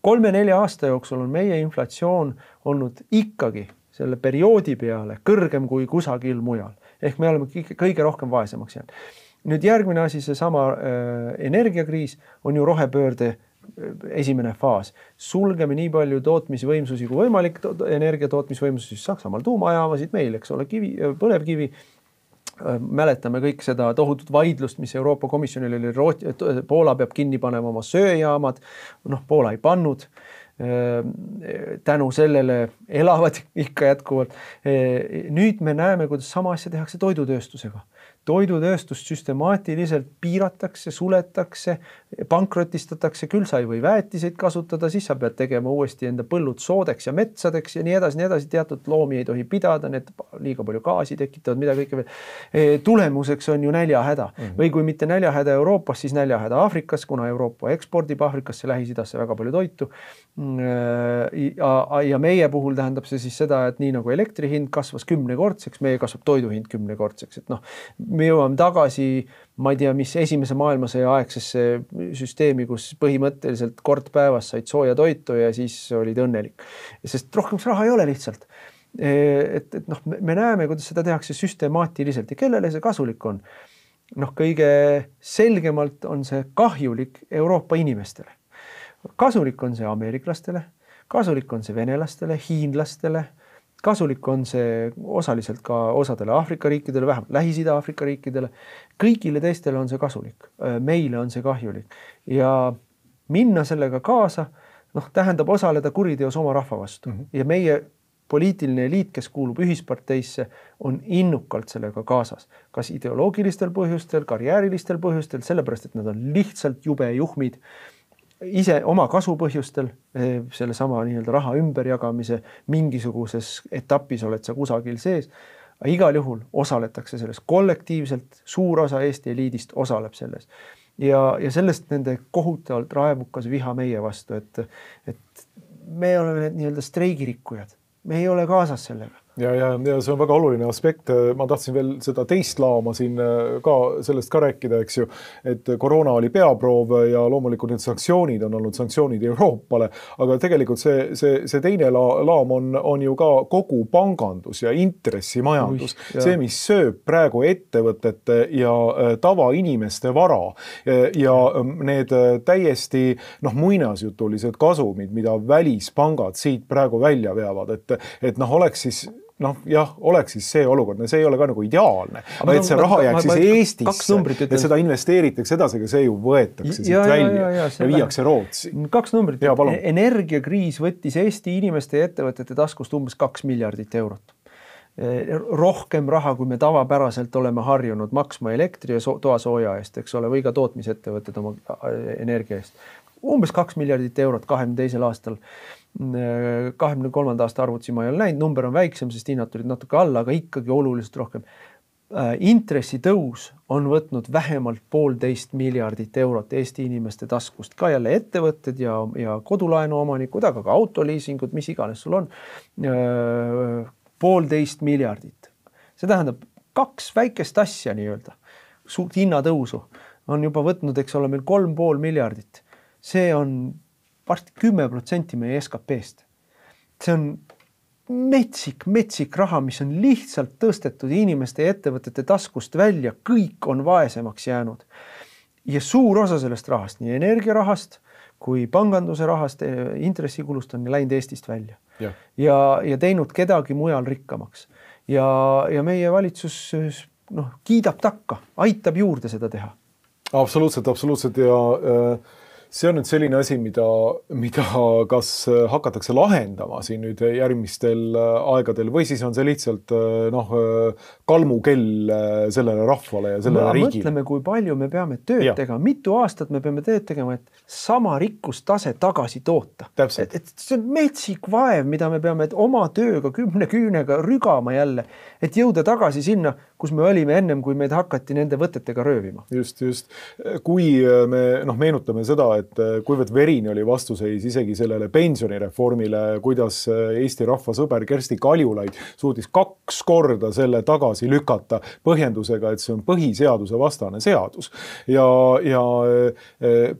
kolme-nelja aasta jooksul on meie inflatsioon olnud ikkagi selle perioodi peale kõrgem kui kusagil mujal. Ehk me oleme kõige rohkem vaesemaks jäänud. Nüüd järgmine asi, see sama äh, energiakriis on ju rohepöörde esimene faas. Sulgeme nii palju tootmisvõimsusi kui võimalik, to energia tootmisvõimsusi Saksamaal tuumajaamasid, meil, eks ole, kivi, põlevkivi. Äh, mäletame kõik seda tohutut vaidlust, mis Euroopa Komisjonil oli, Root, Poola peab kinni panema oma sööjaamad, noh, Poola ei pannud. Tänu sellele elavad ikka jätkuvalt. Nüüd me näeme, kuidas sama asja tehakse toidutööstusega. Toidutööstust süstemaatiliselt piiratakse, suletakse, pankrotistatakse, küll sa ei või väetiseid kasutada, siis sa pead tegema uuesti enda põllud soodeks ja metsadeks ja nii edasi, nii edasi, teatud loomi ei tohi pidada, need liiga palju gaasi tekitavad, mida kõike veel. Tulemuseks on ju näljahäda. Mm-hmm. Või kui mitte näljahäda Euroopas, siis näljahäda Aafrikas, kuna Euroopa ekspordib Aafrikasse, Lähis-Idasse väga palju toitu. Ja, ja meie puhul tähendab see siis seda, et nii nagu elektri hind kasvas kümnekordseks, meie kasvab toidu hind kümnekordseks, et noh, me jõuame tagasi, ma ei tea, mis esimese maailmasõja aegsesse süsteemi, kus põhimõtteliselt kord päevas said sooja toitu ja siis olid õnnelik. Sest rohkem raha ei ole lihtsalt. Et, et noh, me näeme, kuidas seda tehakse süstemaatiliselt ja kellele see kasulik on. Noh, kõige selgemalt on see kahjulik Euroopa inimestele. Kasulik on see ameeriklastele, kasulik on see venelastele, hiinlastele, kasulik on see osaliselt ka osadele Aafrika riikidele, vähemalt Lähis-Ida Aafrika riikidele. Kõigile teistele on see kasulik. Meile on see kahjulik. Ja minna sellega kaasa, noh, tähendab osaleda kuriteos oma rahva vastu. Mm-hmm. Ja meie poliitiline eliit, kes kuulub ühisparteisse, on innukalt sellega kaasas. Kas ideoloogilistel põhjustel, karjäärilistel põhjustel, sellepärast, et nad on lihtsalt jube juhmid, ise oma kasupõhjustel, selle sama nii-öelda raha ümberjagamise mingisuguses etapis oled sa kusagil sees, aga igal juhul osaletakse selles kollektiivselt, suur osa Eesti eliidist osaleb selles. Ja, ja sellest nende kohutavalt raevukas viha meie vastu, et, et me oleme need nii-öelda streigirikkujad, me ei ole kaasas sellega. Ja, ja, ja see on väga oluline aspekt. Ma tahtsin veel seda teist laama siin ka sellest ka rääkida, eks ju, et koroona oli peaproov ja loomulikult need sanktsioonid on olnud sanktsioonid Euroopale, aga tegelikult see, see, see teine laam on, on ju ka kogu pangandus ja intressimajandus. Ui, see, mis sööb praegu ettevõtete ja tavainimeste vara ja need täiesti noh, muinasjutulised kasumid, mida välispangad siit praegu välja veavad, et, et noh, oleks siis noh, jah, oleks siis see olukord, see ei ole ka nagu ideaalne, aga et see raha jääks siis Eestisse, et seda investeeritakse edasi, see ju võetakse siit ja, välja ja, ja, ja viiakse Rootsi. Kaks numbrit. Energiakriis võttis Eesti inimeste ja ettevõtete taskust umbes kaks miljardit eurot. Rohkem raha, kui me tavapäraselt oleme harjunud maksma elektri ja toasooja eest, eks ole, või ka tootmisettevõtted oma energia eest. Umbes kaks miljardit eurot kahekümne teisel aastal. kahekümne kolmanda aasta arvutsi ma ei ole näinud, number on väiksem, sest hinnad tulid natuke alla, aga ikkagi oluliselt rohkem. Intressi tõus on võtnud vähemalt poolteist miljardit eurot Eesti inimeste taskust, ka jälle ettevõtted ja, ja kodulaenu omanikud, aga ka autoliisingud, mis iganes sul on, poolteist miljardit. See tähendab kaks väikest asja nii-öelda, suurt hinnatõusu on juba võtnud, eks ole, meil kolm pool miljardit. See on varsti kümme protsenti meie S K P-st. See on metsik, metsik raha, mis on lihtsalt tõstetud inimeste ja ettevõtete taskust välja, kõik on vaesemaks jäänud. Ja suur osa sellest rahast, nii energiarahast kui panganduse rahast, intressikulust on läinud Eestist välja. Ja, ja, ja teinud kedagi mujal rikkamaks. Ja, ja meie valitsus noh, kiidab takka, aitab juurde seda teha. Absoluutselt, absoluutselt ja äh... see on nüüd selline asi, mida, mida kas hakatakse lahendama siin nüüd järgmistel aegadel või siis on see lihtsalt noh, kalmukell sellele rahvale ja sellele riigile. Mõtleme, kui palju me peame tööd ja. tegema, mitu aastat me peame tööd tegema, et sama rikkustase tagasi toota. Et, et see on metsik vaev, mida me peame oma tööga, kümne küünega rügama jälle, et jõuda tagasi sinna, kus me olime ennem, kui meid hakati nende võtetega röövima. Just, just. Kui me noh, meenutame seda, et kuivõrd verini oli vastuseis isegi sellele pensionireformile, kuidas Eesti rahva sõber Kersti Kaljulaid suutis kaks korda selle tagasi lükata põhjendusega, et see on põhiseaduse vastane seadus. Ja, ja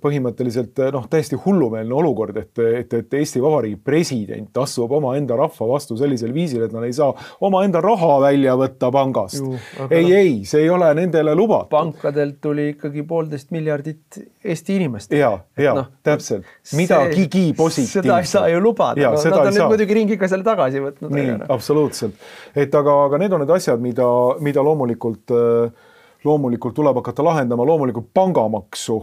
põhimõtteliselt noh, täiesti hullumeelne olukord, et, et, et Eesti Vabariigi president asub oma enda rahva vastu sellisel viisil, et nad ei saa oma enda raha välja võtta pangast. Ju, ei, no, ei, see ei ole nendele lubatud. Pankadelt tuli ikkagi poolteist miljardit Eesti inimest. Ja, ja no, täpselt. Midagigi positiivset. Seda ei saa ju lubada. Ja, no, nad on nüüd muidugi ringiga selle tagasi võtnud. Nii, absoluutselt. Et aga, aga need on need asjad, mida, mida loomulikult loomulikult tuleb hakata lahendama, loomulikult pangamaksu.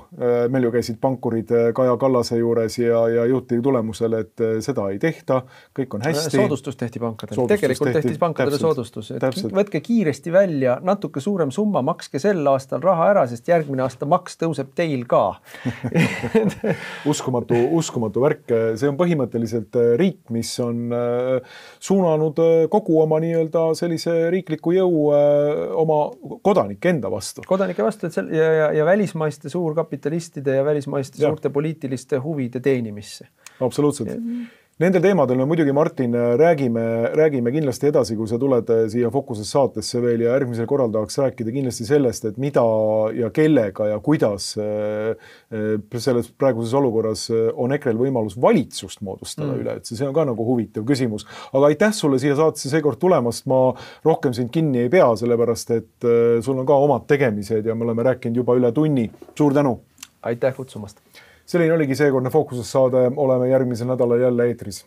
Meil ju käisid pankurid Kaja Kallase juures ja, ja jõuti tulemusele, et seda ei tehta, kõik on hästi. Soodustus tehti pankadele, tegelikult tehti, tehti pankadele täpselt, soodustus. Et võtke kiiresti välja, natuke suurem summa, makske sel aastal raha ära, sest järgmine aasta maks tõuseb teil ka. uskumatu, uskumatu värk. See on põhimõtteliselt riik, mis on suunanud kogu oma nii-öelda sellise riikliku jõu oma kodanike enda vastu. Kodanike vastu, et sel, ja, ja, ja välismaiste suurkapitalistide ja välismaiste ja. suurte poliitiliste huvide teenimisse. Absoluutselt. Ja. Nendel teemadel me muidugi, Martin, räägime, räägime kindlasti edasi, kui sa tuled siia Fokuses saatesse veel ja järgmisel korral tahaks rääkida kindlasti sellest, et mida ja kellega ja kuidas selles praeguses olukorras on ekrel võimalus valitsust moodustada mm. üle, et see on ka nagu huvitav küsimus. Aga aitäh sulle siia saatesse seekord tulemast, ma rohkem sind kinni ei pea, sellepärast et sul on ka omad tegemised ja me oleme rääkinud juba üle tunni. Suur tänu! Aitäh kutsumast! Selline oligi seekordne Fookuses saade, oleme järgmisel nädalal jälle eetris.